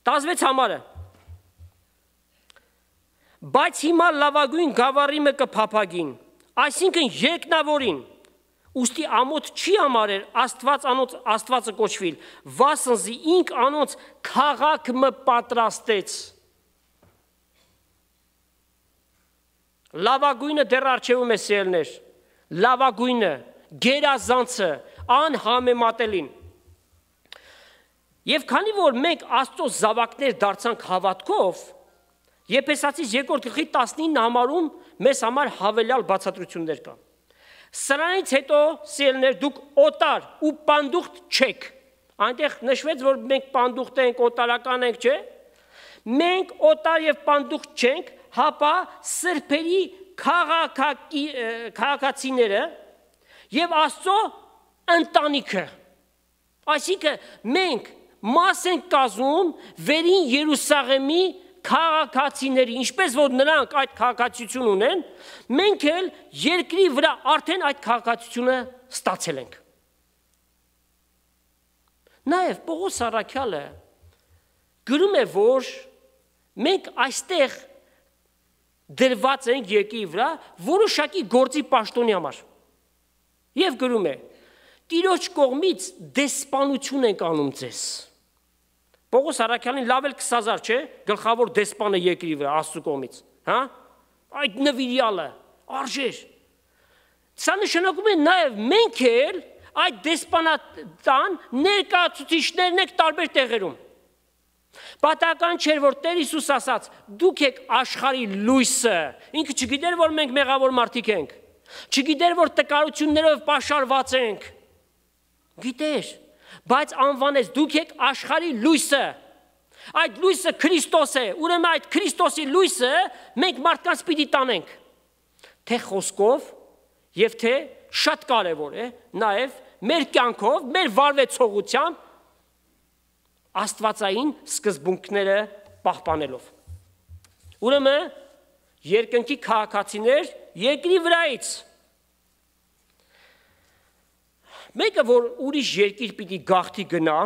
տասնվեց համարը։ Բայց հիմա լավագույն գավառիմը կփափագին, այսինքն երկնավորին, ուստի ամոթ չի համարեր Աստված անոնց Աստվածը կոչվիլ, վասնզի ինք անոնց քաղաքը պատրաստեց։ Լավագույնը դեռ առջևում է սիրելներ, լավագույնը, գերազանցը, անհամեմատելին։ Եվ քանի որ մենք Աստծո զավակներ դարձանք հավատքով, Եփեսացիս երկրորդ գլխի տասնինը համարում մեզ համար հավելյալ բացատրություններ կան։ Սրանից հետո, սիրելներ, դուք օտար ու պանդուխտ չեք։ Այնտեղ նշվեց, որ մենք պանդուխտ ենք, օտարական ենք, չէ՞։ Մենք օտար եւ պանդուխտ չենք, հապա սրբերի քաղաքացիները եւ Աստծո ընտանիքը։ Այսինքն մենք մաս ենք կազմում վերին Երուսաղեմի քաղաքացիների, ինչպես որ նրանք այդ քաղաքացիություն ունեն, մենք էլ երկրի վրա արդեն այդ քաղաքացիությունը ստացել ենք։ Նաև Պողոս առաքյալը գրում է, որ մենք այստեղ դրված ենք երկրի վրա որոշակի գործի պաշտոնի համար։ Եվ գրում է. Տիրոջ կողմից դեսպանություն ենք անում ձեզ։ Պողոս առաքյալին լավ էլ քսան հազար, չէ՞, գլխավոր դեսպանը երկրի վրա Աստծո կողմից, հա? Այդ նվիրյալը, արժեր։ Սա նշանակում է նաև մենք էլ այդ դեսպանատան ներկայացուցիչներն եք տարբեր տեղերում։ Պատահական չէր, որ Տեր Հիսուս ասաց. դուք եք աշխարհի լույսը, ինքը չգիտեր, որ մենք մեղավոր մարդիկ ենք, չգիտեր, որ տկարություններով պաշարված ենք, գիտեր, բայց անվանեց դուք եք աշխարհի լույսը, այդ լույսը Քրիստոս է, ուրեմն այդ Քրիստոսի լույսը մենք մարդկանց պիտի տանենք, թե խոսքով եւ թե շատ կարևոր է նաեւ մեր կյանքով, մեր վարվեցողությամբ աստվածային սկզբունքները պահպանելով։ Ուրեմն երկնքի քաղաքացիներ երկրի վրայից մեկը, որ ուրիշ երկիր պիտի գաղթի գնա,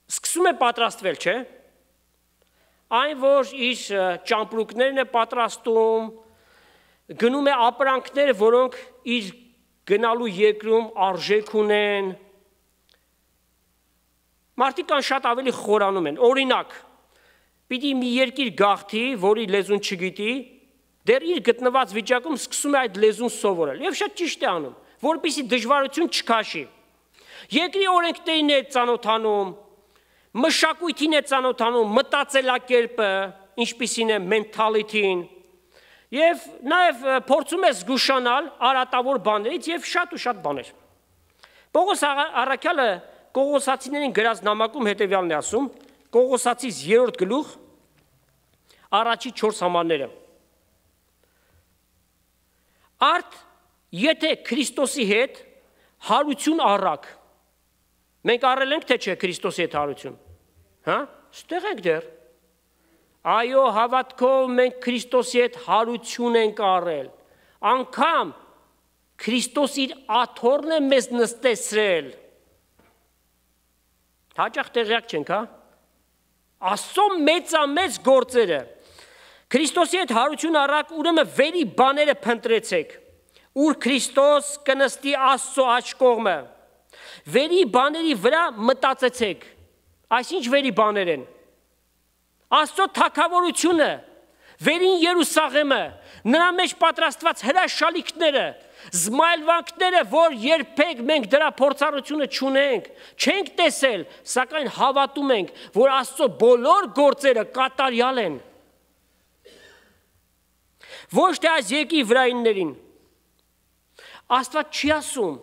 սկսում է պատրաստվել, չէ՞։ Այն, որ իր ճամպրուկներն է պատրաստում, գնում է ապրանքներ, որոնք իր գնալու երկրում արժեք ունեն։ Մարդիկ կան շատ ավելի խորանում են։ Օրինակ, պիտի մի երկիր գաղթի, որի լեզուն չգիտի, դեռ իր գտնված վիճակում սկսում է այդ լեզուն սովորել։ Եվ շատ ճիշտ է անում, որպեսզի դժվարություն չքաշի։ Երկրի օրենքներին է ծանոթանում, մշակույթին է ծանոթանում, մտածելակերպը, ինչպիսին է mentality-ին, եւ նաեւ փորձում է զգուշանալ արատավոր բաներից եւ շատ ու շատ բաներ։ Պողոս առաքյալը Կողոսացիներին գրած նամակում հետևյալն է ասում, Կողոսացիս երրորդ գլուխ, առաջի չորս համարները։ Արդ եթե Քրիստոսի հետ հարություն առակ, մենք առել ենք թե չէ Քրիստոսի հետ հարություն, հա, ստեղ ենք դեռ, այո, հավատքով մենք Քրիստոսի հետ հարություն ենք առել, անգամ Քրիստոս իր աթոռն է մեզ նստեցրել, հաճախ տեղյակ չենք, հա, Աստծո մեծամեծ գործերը, Քրիստոսի հետ հարություն առակ, ուրեմն վերի բաները փնտրեցեք, ուր Քրիստոս կնստի Աստծո աջ կողմը, վերի բաների վրա մտածեցեք, այսինչ վերի բաներ են, Աստծո թագավորությունը, վերին Երուսաղեմը, նրա մեջ պատրաստված հրաշալիքները, զմայլվանքները, որ երբեք մենք դրա փորձառությունը չունենք, չենք տեսել, սակայն հավատում ենք, որ Աստծո բոլոր գործերը կատարյալ են։ Ոչ թե այս երկրի վրայիններին։ Աստված չի ասում,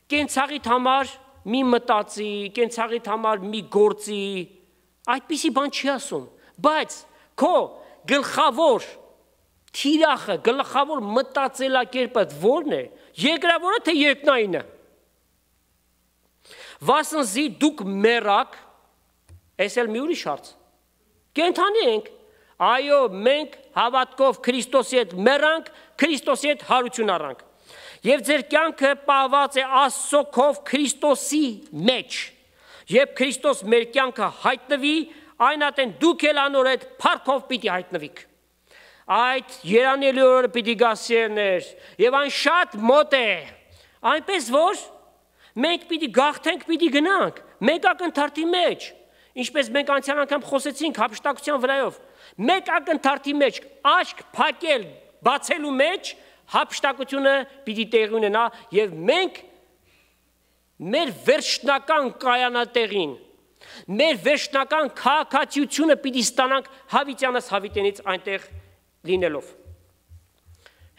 կենցաղիդ համար մի մտածի, կենցաղիդ համար մի գործի, այդպիսի բան չի ասում, բայց քո գլխավոր թիրախը, գլխավոր մտածելակերպը ո՞րն է, երկրավորը թե երկնայինը։ Վասնզի դուք մեռաք, այս էլ մի ուրիշ հարց։ Կենդանի ենք, այո, մենք հավատքով Քրիստոսի հետ մեռանք, Քրիստոսի հետ հարություն առանք։ Եվ ձեր կյանքը պահված է Աստծո քով Քրիստոսի մեջ։ Երբ Քրիստոս մեր կյանքը հայտնվի, այն ատեն դուք էլ անոր հետ փառքով պիտի հայտնվիք։ Այդ երանելի օրը պիտի գա սիրներ, եւ այն շատ մոտ է, այնպես որ մենք պիտի գաղթենք, պիտի գնանք, մեկ ակնթարթի մեջ, ինչպես մենք անցյալ անգամ խոսեցինք հափշտակության վրայով, մեկ ակնթարթի մեջ աչք փակել բացելու մեջ հափշտակությունը պիտի տեղի ունենա եւ մենք մեր վերջնական կայանատեղին, մեր վերջնական քաղաքացիությունը պիտի ստանանք հավիտյանս հավիտենից այնտեղ լինելով։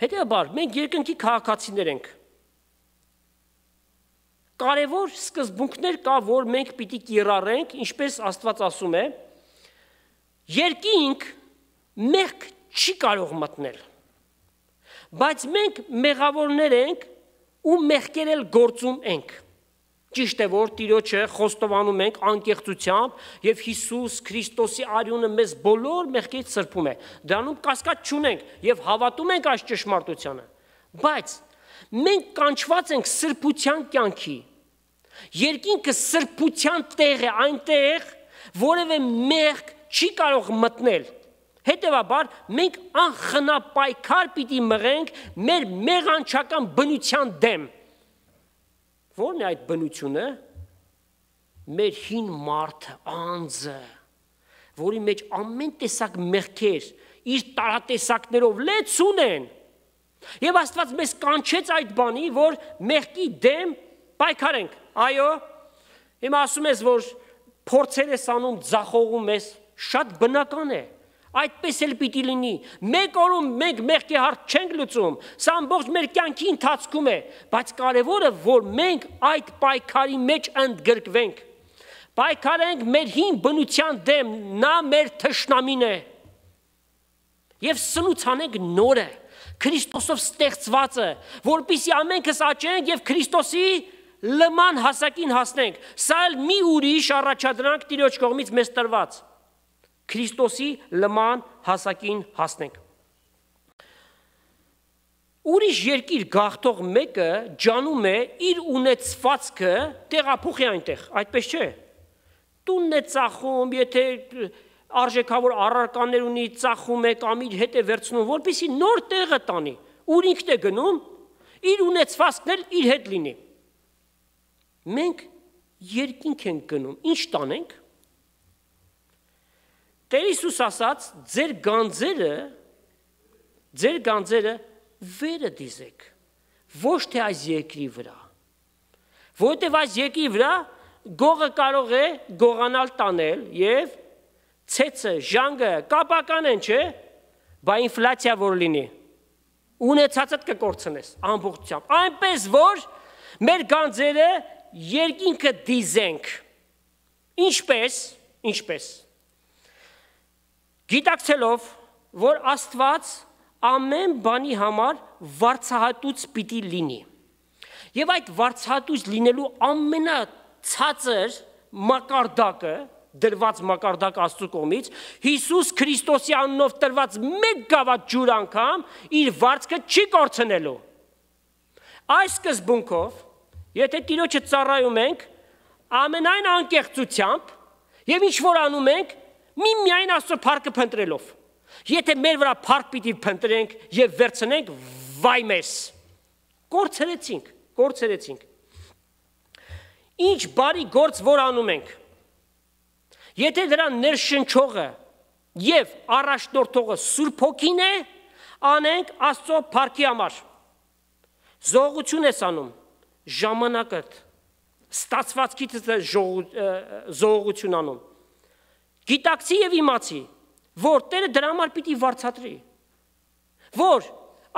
Հետևաբար, մենք երկնքի քաղաքացիներ ենք։ Կարևոր սկզբունքներ կա, որ մենք պիտի կիրառենք, ինչպես Աստված ասում է, երկինք մեղք չի կարող մտնել, բայց մենք մեղավորներ ենք ու մեղքեր էլ գործում ենք։ Ճիշտ է, որ Տիրոջը խոստովանում ենք անկեղծությամբ եւ Հիսուս Քրիստոսի արյունը մեզ բոլոր մեղքից սրբում է։ Դրանում կասկած չունենք եւ հավատում ենք այս ճշմարտությանը։ Բայց մենք կանչված ենք սրբության կյանքի։ Երկինքը սրբության տեղ է, այնտեղ որևէ մեղք չի կարող մտնել։ Հետևաբար մենք անխնապայքար պիտի մղենք մեր մեղանչական բնության դեմ։ Որն է այդ բնությունը, մեր հին մարդը, անձը, որի մեջ ամեն տեսակ մեղքեր իր տարատեսակներով լեցուն են։ Եվ Աստված մեզ կանչեց այդ բանի, որ մեղքի դեմ պայքարենք։ Այո, հիմա ասում ես, որ փորձեր ես անում, ձախողում ես, շատ բնական է։ Այդպես էլ պիտի լինի։ Մեկ օրում մենք մեղքի հարց չենք լուծում, սա ամբողջ մեր կյանքի ընթացքում է, բայց կարևորը, որ մենք այդ պայքարի մեջ ընդգրկվենք։ Պայքարենք մեր հին բնության դեմ, նա մեր թշնամին է։ Եվ սնուցանենք նորը, Քրիստոսով ստեղծվածը, որպեսզի ամենքս աճենք եւ Քրիստոսի լման հասակին հասնենք։ Սա էլ մի ուրիշ առաջադրանք Տիրոջ կողմից մեզ տրված։ Քրիստոսի լման հասակին հասնենք։ Ուրիշ երկիր գաղթող մեկը ջանում է իր ունեցվածքը տեղափոխի այնտեղ, այդպես չէ։ Տունն է ծախում, եթե արժեքավոր առարկաներ ունի, ծախում է կամ իր հետ է վերցնում, որպեսզի նոր տեղը տանի, ուր ինքն է գնում, իր ունեցվածքն էլ իր հետ լինի։ Մենք երկինք ենք գնում, ինչ տանենք։ Տեր Հիսուս ասաց, ձեր գանձերը, ձեր գանձերը վերը դիզեք, ոչ թե այս երկրի վրա, որովհետև այս երկրի վրա գողը կարող է գողանալ տանել և ցեցը, ժանգը կապական են, չէ, բա ինֆլացիա որ լինի, ունեցածդ կկործնես ամբողջությամբ, այնպես որ մեր գանձերը երկինքը դիզենք, ինչպես, ինչպես, Գիտակցելով, որ Աստված ամեն բանի համար վարձահատուց պիտի լինի։ Եվ այդ վարձահատուց լինելու ամենացածր մակարդակը, դրված մակարդակ Աստծու կողմից, Հիսուս Քրիստոսի անունով տրված մեկ գավաթ ջուր անգամ իր վարձքը չի կորցնելու։ Այս սկզբունքով, եթե Տիրոջը ծառայում ենք, ամենայն անկեղծությամբ եւ ինչ որ անում ենք, միմիայն Աստծո փառքը փնտրելով։ Եթե մեր վրա փառք պիտի փնտրենք եւ վերցնենք, վայ մեզ։ Կորցրեցինք, կորցրեցինք։ Ինչ բարի գործ որ անում ենք։ Եթե դրա ներշնչողը եւ առաջնորդողը Սուրբ Հոգին է, անենք Աստծո փառքի համար։ Զողություն ես անում, ժամանակդ, ստացվածքիդ զողություն անում։ Գիտակցի եւ իմացի, որ Տերը դրա համար պիտի վարձատրի, որ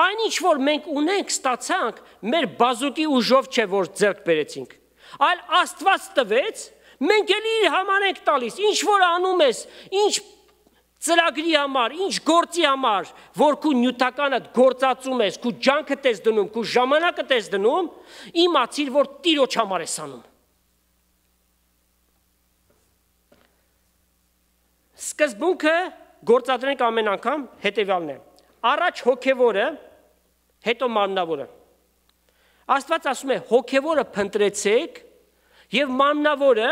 այն ինչ որ մենք ունենք, ստացանք, մեր բազուկի ուժով չէ, որ ձեռք բերեցինք, այլ Աստված տվեց, մենք էլ իր համար ենք տալիս, ինչ որ անում ես, ինչ ծրագրի համար, ինչ գործի համար, որ քու նյութականդ գործածում ես, քու ջանքդ ես դնում, քու ժամանակդ ես դնում, իմացիր, որ Տիրոջ համար ես անում։ Սկզբունքը գործադրենք ամեն անգամ հետևյալն է։ Առաջ հոգևորը, հետո մարմնավորը։ Աստված ասում է հոգևորը փնտրեցեք եւ մարմնավորը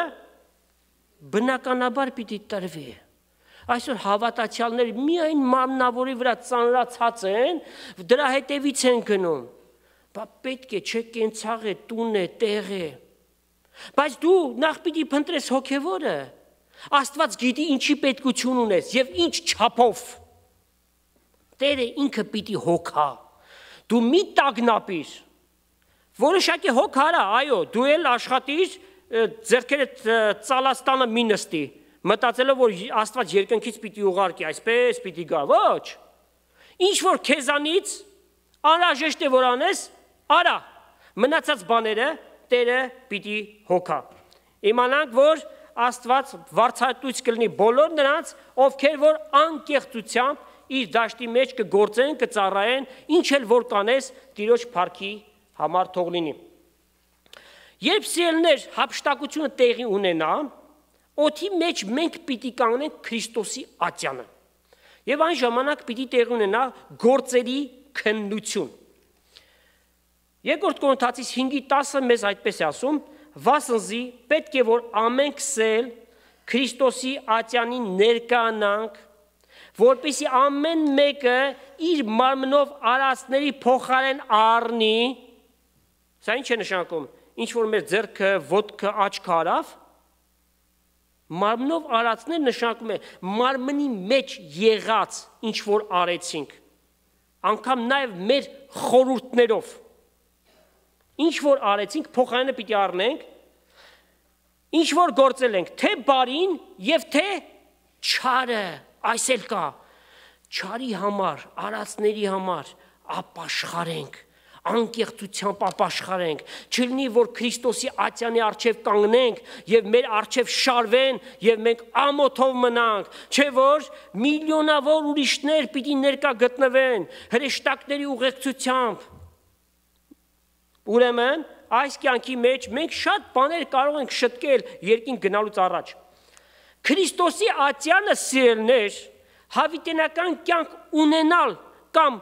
բնականաբար պիտի տրվի։ Այսօր հավատացյալներ միայն մարմնավորի վրա ծանրացած են, դրա հետևից են գնում։ Բա պետք է չէ կենցաղ է, տուն է, տեղ է։ Բայց դու նախ պիտի փնտրես հոգևորը։ Աստված գիտի ինչի պետքություն ունես եւ ինչ չափով։ Տերը ինքը պիտի հոգա։ Դու մի տագնապիր։ Որոշակի հոգ արա, այո, դու էլ աշխատիր, ձեռքերդ ծալաստանը մի նստի, մտածելով, որ Աստված երկնքից պիտի ուղարկի, այսպես պիտի գա, ոչ։ Ինչ որ քեզանից անհրաժեշտ է որ անես, արա, մնացած բաները Տերը պիտի հոգա։ Իմանանք, որ Աստված վարձահատույց կլինի բոլոր նրանց, ովքեր որ անկեղծությամբ իր դաշտի մեջ կգործեն, կծառայեն, ինչ էլ որ կանես, Տիրոջ փառքի համար թող լինի։ Երբ սիրելիներ հափշտակությունը տեղի ունենա, օդի մեջ մենք պիտի կանգնենք Քրիստոսի ատյանը։ Եվ այն ժամանակ պիտի տեղի ունենա գործերի քննություն։ Երկրորդ Կորինթացիս հինգի տասը մեզ այդպես է ասում. «Վասնզի պետք է որ ամենքս էլ Քրիստոսի ատյանին ներկայանանք, որպեսզի ամեն մեկը իր մարմնով արածների փոխարեն առնի», սա ինչ է նշանակում, ինչ որ մեր ձեռքը, ոտքը, աչքը արավ, մարմնով արածներ նշանակում է մարմնի մեջ եղած ինչ որ արեցինք, անգամ նաև մեր խորհուրդներով, ինչ որ արեցինք, փոխարենը պիտի առնենք, ինչ որ գործել ենք, թե բարին և թե չարը, այս էլ կա, չարի համար, արածների համար ապաշխարենք, անկեղծությամբ ապաշխարենք, չլինի, որ Քրիստոսի ատյանի առջև կանգնենք և մեր առջև շարվեն և մենք ամոթով մնանք, չէ որ միլիոնավոր ուրիշներ պիտի ներկա գտնվեն, հրեշտակների ուղեկցությամբ։ Ուրեմն, այս կյանքի մեջ մենք շատ բաներ կարող ենք շտկել երկինք գնալուց առաջ։ Քրիստոսի ատյանը սիրելիներ, հավիտենական կյանք ունենալ կամ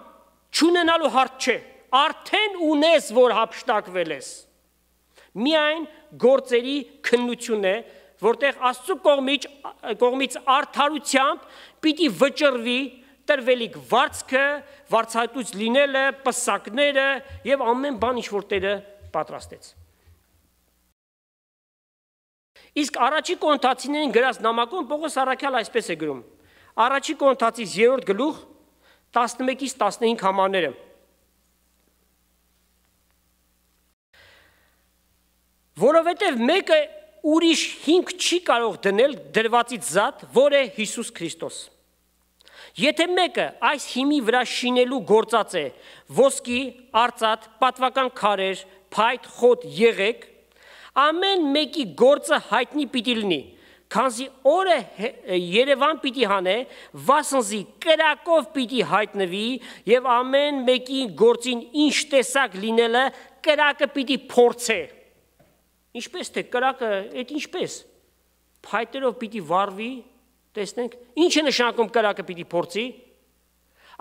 չունենալու հարց չէ, արդեն ունես, որ հափշտակվել ես։ Միայն գործերի քննություն է, որտեղ Աստծո կողմից, կողմից արդարությամբ պիտի վճռվի տրվելիք վարձքը, վարձահատույց լինելը, պսակները և ամեն բան ինչ որ Տերը պատրաստեց։ Իսկ առաջի Կորինթացիներին գրած նամակում Պողոս առաքյալը այսպես է գրում. առաջի Կորինթացիս երրորդ գլուխ տասնմեկից տասնհինգ համարները. Որովհետև մեկը ուրիշ հիմք չի կարող դնել դրվածից զատ, որ է Հիսուս Քրիստոս։ Եթե մեկը այս հիմի վրա շինելու գործած է ոսկի, արծաթ, պատվական քարեր, փայտ, խոտ, եղեք, ամեն մեկի գործը հայտնի պիտի լինի, քանզի օրը Երևան պիտի հանե, վասնզի կրակով պիտի հայտնվի և ամեն մեկի գործին ինչ տեսակ լինելը կրակը պիտի փորձե։ Ինչպես թե կրակը, այդ ինչպես, փայտերով պիտի վառվի, տեսնենք, ինչ է նշանակում կրակը պիտի փորձի,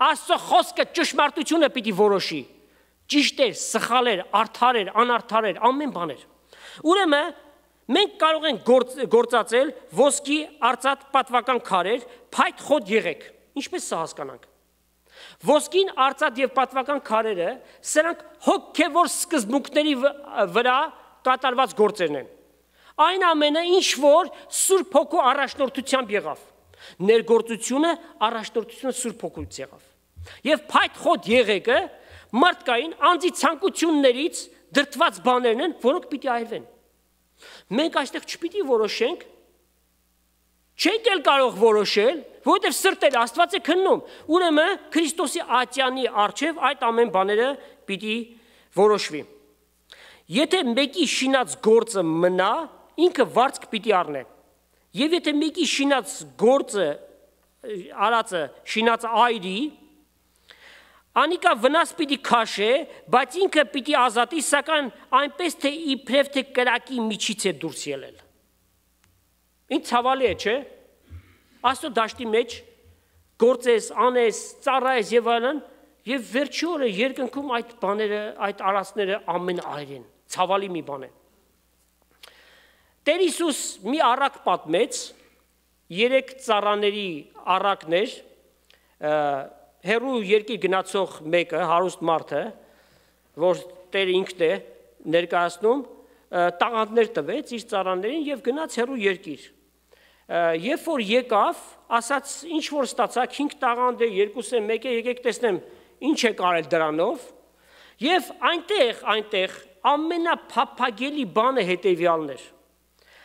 Աստծո խոսքը ճշմարտությունը պիտի որոշի, ճիշտ էր, սխալ էր, արդար էր, անարդար էր, ամեն բան էր։ Ուրեմն, մենք կարող ենք գործ, գործածել ոսկի, արծաթ, պատվական քարեր, փայտ, խոտ, եղեք, ինչպես սա հասկանանք։ Ոսկին, արծաթ և պատվական քարերը, սրանք հոգևոր սկզբունքների վրա կատարված գործերն են։ Այն ամենը ինչ որ Սուրբ Հոգու առաջնորդությամբ եղավ։ Ներգործությունը առաջնորդությունը Սուրբ Հոգուց եղավ։ Եվ փայտ խոտ եղեկը մարդկային անձի ցանկություններից դրդված բաներն են, որոնք պիտի այրվեն։ Մենք այստեղ չպիտի որոշենք, չենք էլ կարող որոշել, որովհետև սրտել Աստված է քննում։ Ուրեմն Քրիստոսի ատյանի առջև այդ ամեն բաները պիտի որոշվի։ Եթե մեկի շինած գործը մնա, ինքը վարձք պիտի առնե։ Եվ եթե մեկի շինած գործը, արածը շինած այրի, անիկա վնաս պիտի քաշե, բայց ինքը պիտի ազատի, սակայն այնպես թե իբրև թե կրակի միջից է դուրս ելել։ Ինչ ցավալի է, չէ՞։ Աստծո դաշտի մեջ գործես, անես, ծառայես եւ այլն, եւ վերջի օրը երկնքում այդ բաները, այդ արածները ամեն այրեն։ Ցավալի մի բան է։ Տեր Հիսուս մի առակ պատմեց, երեք ծառաների առակներ, հեռու երկիր գնացող մեկը, հարուստ մարդը, որ Տերը ինքն է ներկայացնում, տաղանդներ տվեց իր ծառաներին եւ գնաց հեռու երկիր։ երբ որ եկավ, ասաց, ինչ որ ստացակ, հինգ տաղանդ է, երկուս է, մեկ է, եկեք տեսնեմ, ինչ է կարել դրանով, եւ այնտեղ, այնտեղ ամենափափագելի բանը հետեւյալն էր.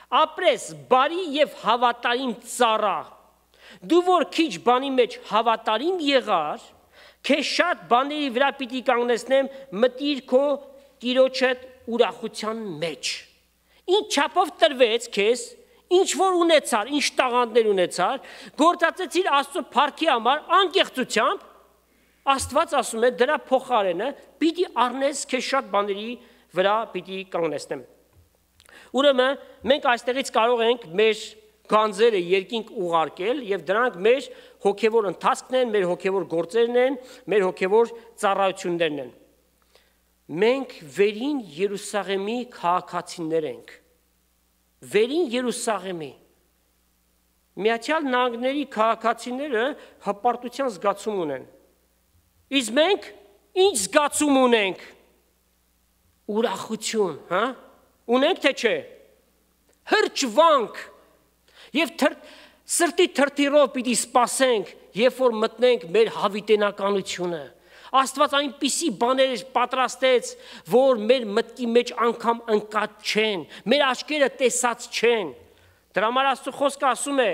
ապրես բարի եւ հավատարիմ ծառա, դու որ քիչ բանի մեջ հավատարիմ եղար, քեզ շատ բաների վրա պիտի կանգնեցնեմ, մտիր քո տիրոջդ ուրախության մեջ։ Ինչ չափով տրվեց քեզ, ինչ որ ունեցար, ինչ տաղանդներ ունեցար, գործածեցիր Աստծո փառքի համար անկեղծությամբ, Աստված ասում է դրա փոխարենը պիտի առնես քեզ շատ բաների վրա պիտի կանգնեցնեմ։ Ուրեմն մենք այստեղից կարող ենք մեր գանձերը երկինք ուղարկել եւ դրանք մեր հոգեվոր ընթացքն են, մեր հոգեվոր գործերն են, մեր հոգեվոր ծառայություններն են։ Մենք վերին Երուսաղեմի քաղաքացիներ ենք։ Վերին Երուսաղեմի։ Միացյալ Նահանգների քաղաքացիները հպարտության զգացում ունեն։ Իսկ մենք ինչ զգացում ունենք։ Ուրախություն, հա՞։ Ունենք թե չէ։ Հրճվանք։ Եվ թր, սրտի թրթիրով պիտի սպասենք, երբ որ մտնենք մեր հավիտենականությունը։ Աստված այնպիսի բաներ պատրաստեց, որ մեր մտքի մեջ անգամ ընկած չեն, մեր աչքերը տեսած չեն։ Դրա համար Աստծո խոսքը ասում է.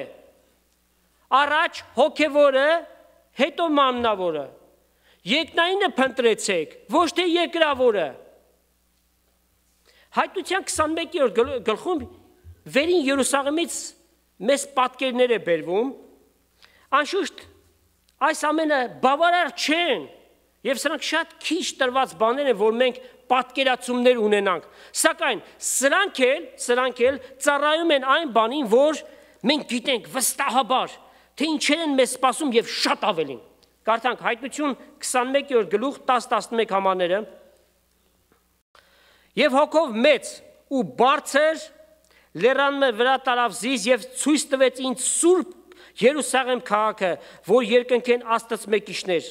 առաջ հոգևորը, հետո մաննավորը։ Երկնայինը փնտրեցեք, ոչ թե երկրավորը։ Հայտնության քսանմեկերորդ գլխում վերին Երուսաղեմից մեծ պատկերներ է բերվում, անշուշտ այս ամենը բավարար չեն, եւ սրանք շատ քիչ տրված բաներ են, որ մենք պատկերացումներ ունենանք, սակայն սրանք էլ, սրանք էլ ծառայում են այն բանին, որ մենք գիտենք վստահաբար, թե ինչեր են մեզ սպասում եւ շատ ավելին։ Կարդանք Հայտնություն քսանմեկերորդ գլուխ տաս տասնմեկ համարները։ Եվ հոգով մեծ ու բարձր լեռանը վրա տարավ զիս եւ ցույց տվեց ինձ սուրբ Երուսաղեմ քաղաքը, որ երկնքեն Աստծո մեկիշներ,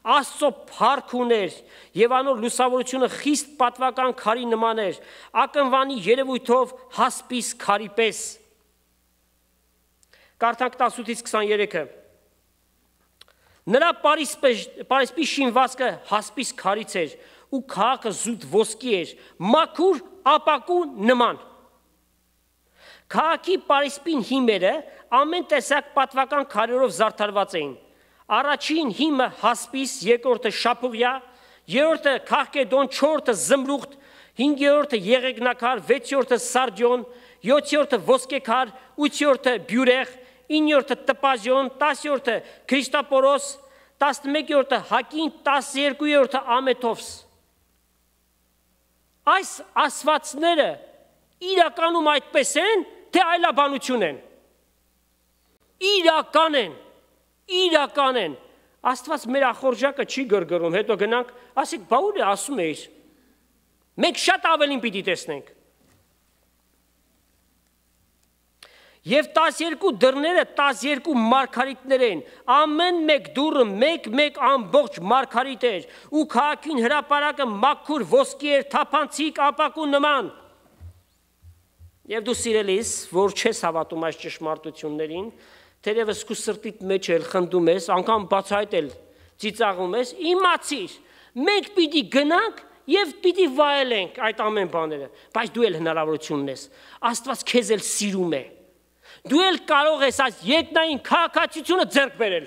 Աստծո փառք ուներ եւ անոր լուսավորությունը խիստ պատվական քարի նման էր, ակնվանի երևույթով հասպիս քարի պես։ Կարդանք տասնութից քսաներեքը։ Նրա պարիսպի շինվածքը հասպիս քարից էր ու քաղաքը զուտ ոսկի էր, մաքուր ապակու նման։ Քաղաքի պարիսպին հիմերը ամեն տեսակ պատվական քարերով զարդարված էին։ Առաջին հիմը հասպիս, երկրորդը շապուղյա, երրորդը քաղկեդոն, չորրորդը զմրուխտ, հինգերորդը եղեգնակար, վեցերորդը սարդիոն, յոթերորդը ոսկեքար, ութերորդը բյուրեղ, իններորդը տպազիոն, տասերորդը քրիստապորոս, տասնմեկերորդը հակին, տասներկուերորդը ամեթովս։ Այս ասվածները իրականում այդպես են, թե այլաբանություն են։ Իրական են, իրական են։ Աստված մեր ախորժակը չի գրգռում, հետո գնանք, ասեք, բա ուր է ասում էիր։ Մենք շատ ավելին պիտի տեսնենք։ Եվ տասներկու դռները տասներկու մարգարիտներ են, ամեն մեկ դուռը մեկ-մեկ ամբողջ մարգարիտ էր, ու քաղաքին հրապարակը մաքուր ոսկի էր, թափանցիկ ապակու նման։ Եվ դու սիրելիս, որ չես հավատում այս ճշմարտություններին, թերևս քո սրտիդ մեջ էլ խնդում ես, անգամ բացահայտել ծիծաղում ես, իմացիր, մենք պիտի գնանք եւ պիտի վայելենք այդ ամեն բաները, բայց դու էլ հնարավորություն ունես, Աստված քեզ էլ սիրում է։ Դու էլ կարող ես այս երկնային քաղաքացիությունը ձեռք բերել։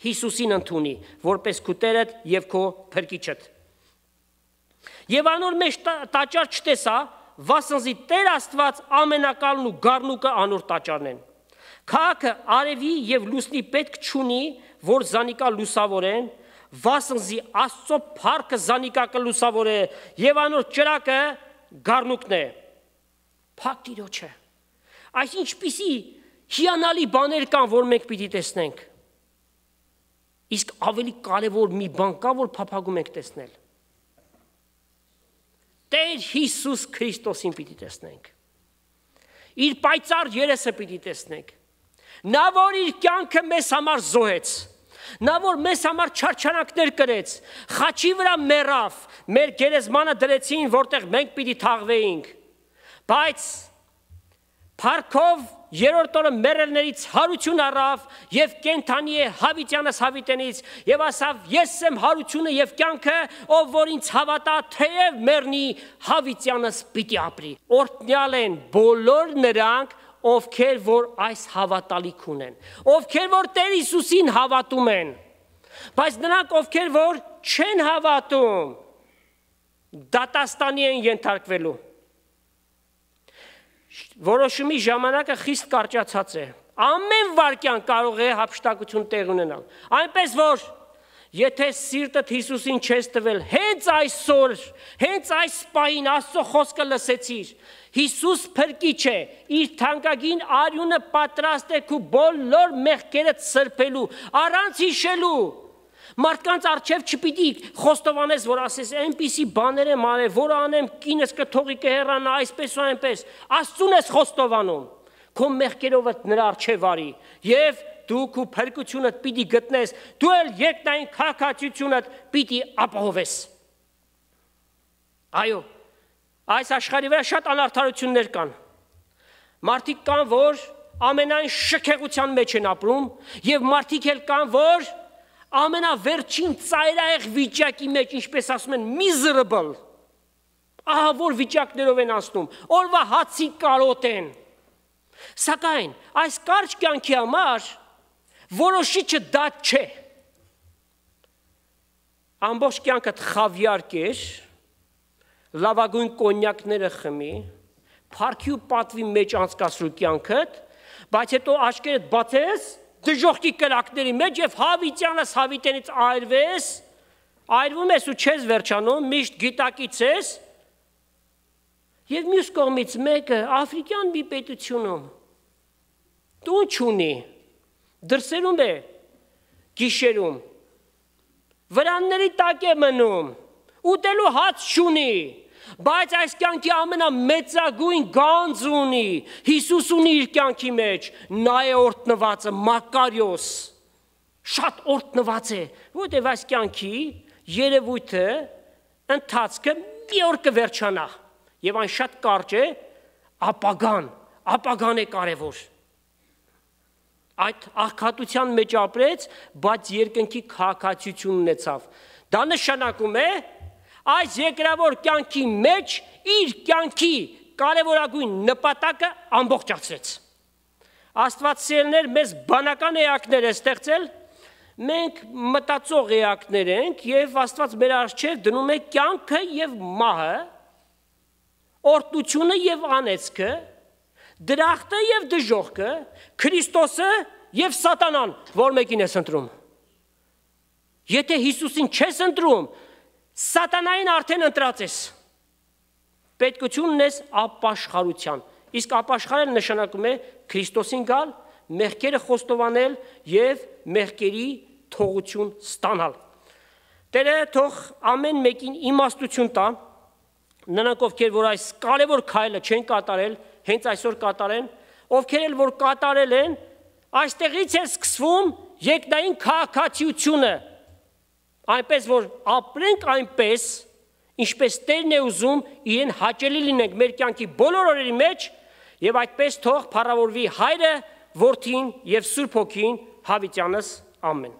Հիսուսին ընդունի, որպես քո Տերդ եւ քո Փրկիչդ։ Եվ անոր մեջ տաճար չտեսա, վասնզի Տեր Աստված ամենակալն ու գառնուկը անոր տաճարն են։ Քաղաքը արևի եւ լուսնի պետք չունի, որ զանիկա լուսավորեն, վասնզի Աստծո փառքը զանիկա կլուսավորե եւ անոր ճրակը գառնուկն է։ Փակ Տիրոջը։ Այս ինչպիսի հիանալի բաներ կան, որ մենք պիտի տեսնենք։ Իսկ ավելի կարևոր մի բան կա, որ փափագում ենք տեսնել։ Տեր Հիսուս Քրիստոսին պիտի տեսնենք։ Իր պայծառ երեսը պիտի տեսնենք։ Նա, որ իր կյանքը մեզ համար զոհեց, նա, որ մեզ համար չարչարանքներ կրեց, խաչի վրա մեռավ, մեր գերեզմանը դրեցին, որտեղ մենք պիտի թաղվեինք, բայց փառքով երրորդ օրը մեռելներից հարություն առավ եւ կենթանի է Հավիտյանս Հավիտենից եւ ասավ ես եմ հարությունը եւ կյանքը ով որ ինձ հավատա թեև մեռնի Հավիտյանս պիտի ապրի օրհնյալ են բոլոր նրանք ովքեր որ այս հավատալիք ունեն ովքեր որ Տեր Հիսուսին հավատում են բայց նրանք ովքեր որ չեն հավատում դատաստանի են ենթարկվելու Որոշումի ժամանակը խիստ կարճացած է ամեն վարքյան կարող է հափշտակություն տեղ ունենալ այնպես որ եթե սիրտդ Հիսուսին չես տվել հենց այսօր հենց այս պահին Աստծո խոսքը լսեցիր Հիսուս փրկիչ է իր թանկագին արյունը պատրաստ է քու բոլոր մեղքերդ սրբելու առանց հիշելու Մարդկանց արչև չպիտի խոստովանես, որ ասես այնպիսի բաներ եմ արել, որ անեմ կինս կթողի կհեռանա այսպես ու այնպես, Աստծուն ես խոստովանում, քո մեղքերով նրա արչև արի, եւ դու քո փրկությունդ պիտի գտնես, դու էլ երկնային քաղաքացիությունդ պիտի ապահովես։ Այո, այս աշխարհի վրա շատ անարդարություններ կան։ Մարդիկ կան, որ ամենայն շքեղության մեջ են ապրում, եւ մարդիկ էլ կան, որ ամենավերջին ծայրահեղ վիճակի մեջ, ինչպես ասում են, miserable, ահա որ վիճակներով են անցնում, օրվա հացի կարոտ են, սակայն այս կարճ կյանքի համար որոշիչը դա չէ, ամբողջ կյանքդ խավիար կեր, լավագույն կոնյակները խմի, փառքի ու պատվի մեջ անցկացրու կյանքդ, բայց հետո աչքերդ բացես դժոխքի կրակների մեջ եւ Հավիտյանս Հավիտենից այրվես, այրվում ես ու չես վերջանում, միշտ գիտակից ես, եւ մյուս կողմից մեկը աֆրիկյան մի պետությունում տուն չունի, դրսերում է գիշերում, վրանների տակ է մնում, ուտելու հաց չունի, բայց այս կյանքի ամենամեծագույն գանձ ունի, Հիսուս ունի իր կյանքի մեջ, նա է օրհնվածը, Մակարիոս, շատ օրհնված է, որտեղ այս կյանքի երևույթը, ընթացքը մի օր կվերջանա, եւ այն շատ կարճ է, ապագան, ապագան է կարևոր։ Այդ աղքատության մեջ ապրեց, բայց երկնքի քաղաքացիություն ունեցավ։ Դա նշանակում է այս երկրավոր կյանքի մեջ իր կյանքի կարևորագույն նպատակը ամբողջացրեց։ Աստված սիրելիներ մեզ բանական էակներ է ստեղծել, մենք մտածող էակներ ենք եւ Աստված մեր առջեւ դնում է կյանքը եւ մահը, օրհնությունը եւ անեծքը, դրախտը եւ դժոխքը, Քրիստոսը եւ Սատանան, որ մեկին ես ընտրում։ Եթե Հիսուսին չես ընտրում, Սատանային արդեն ընտրած ես, պետքություն ունես ապաշխարության, իսկ ապաշխարել նշանակում է Քրիստոսին գալ, մեղքերը խոստովանել եւ մեղքերի թողություն ստանալ։ Տերը թող ամեն մեկին իմաստություն տա, նրանք ովքեր որ այս կարևոր քայլը չեն կատարել, հենց այսօր կատարեն, ովքեր էլ որ կատարել են, այստեղից է սկսվում երկնային քաղաքացիությունը, այնպես որ ապրենք այնպես, ինչպես Տերն է ուզում, իրեն հաճելի լինենք մեր կյանքի բոլոր օրերի մեջ, եւ այդպես թող փառավորվի Հայրը, Որդին եւ Սուրբ Հոգին, Հավիտյանս, ամեն։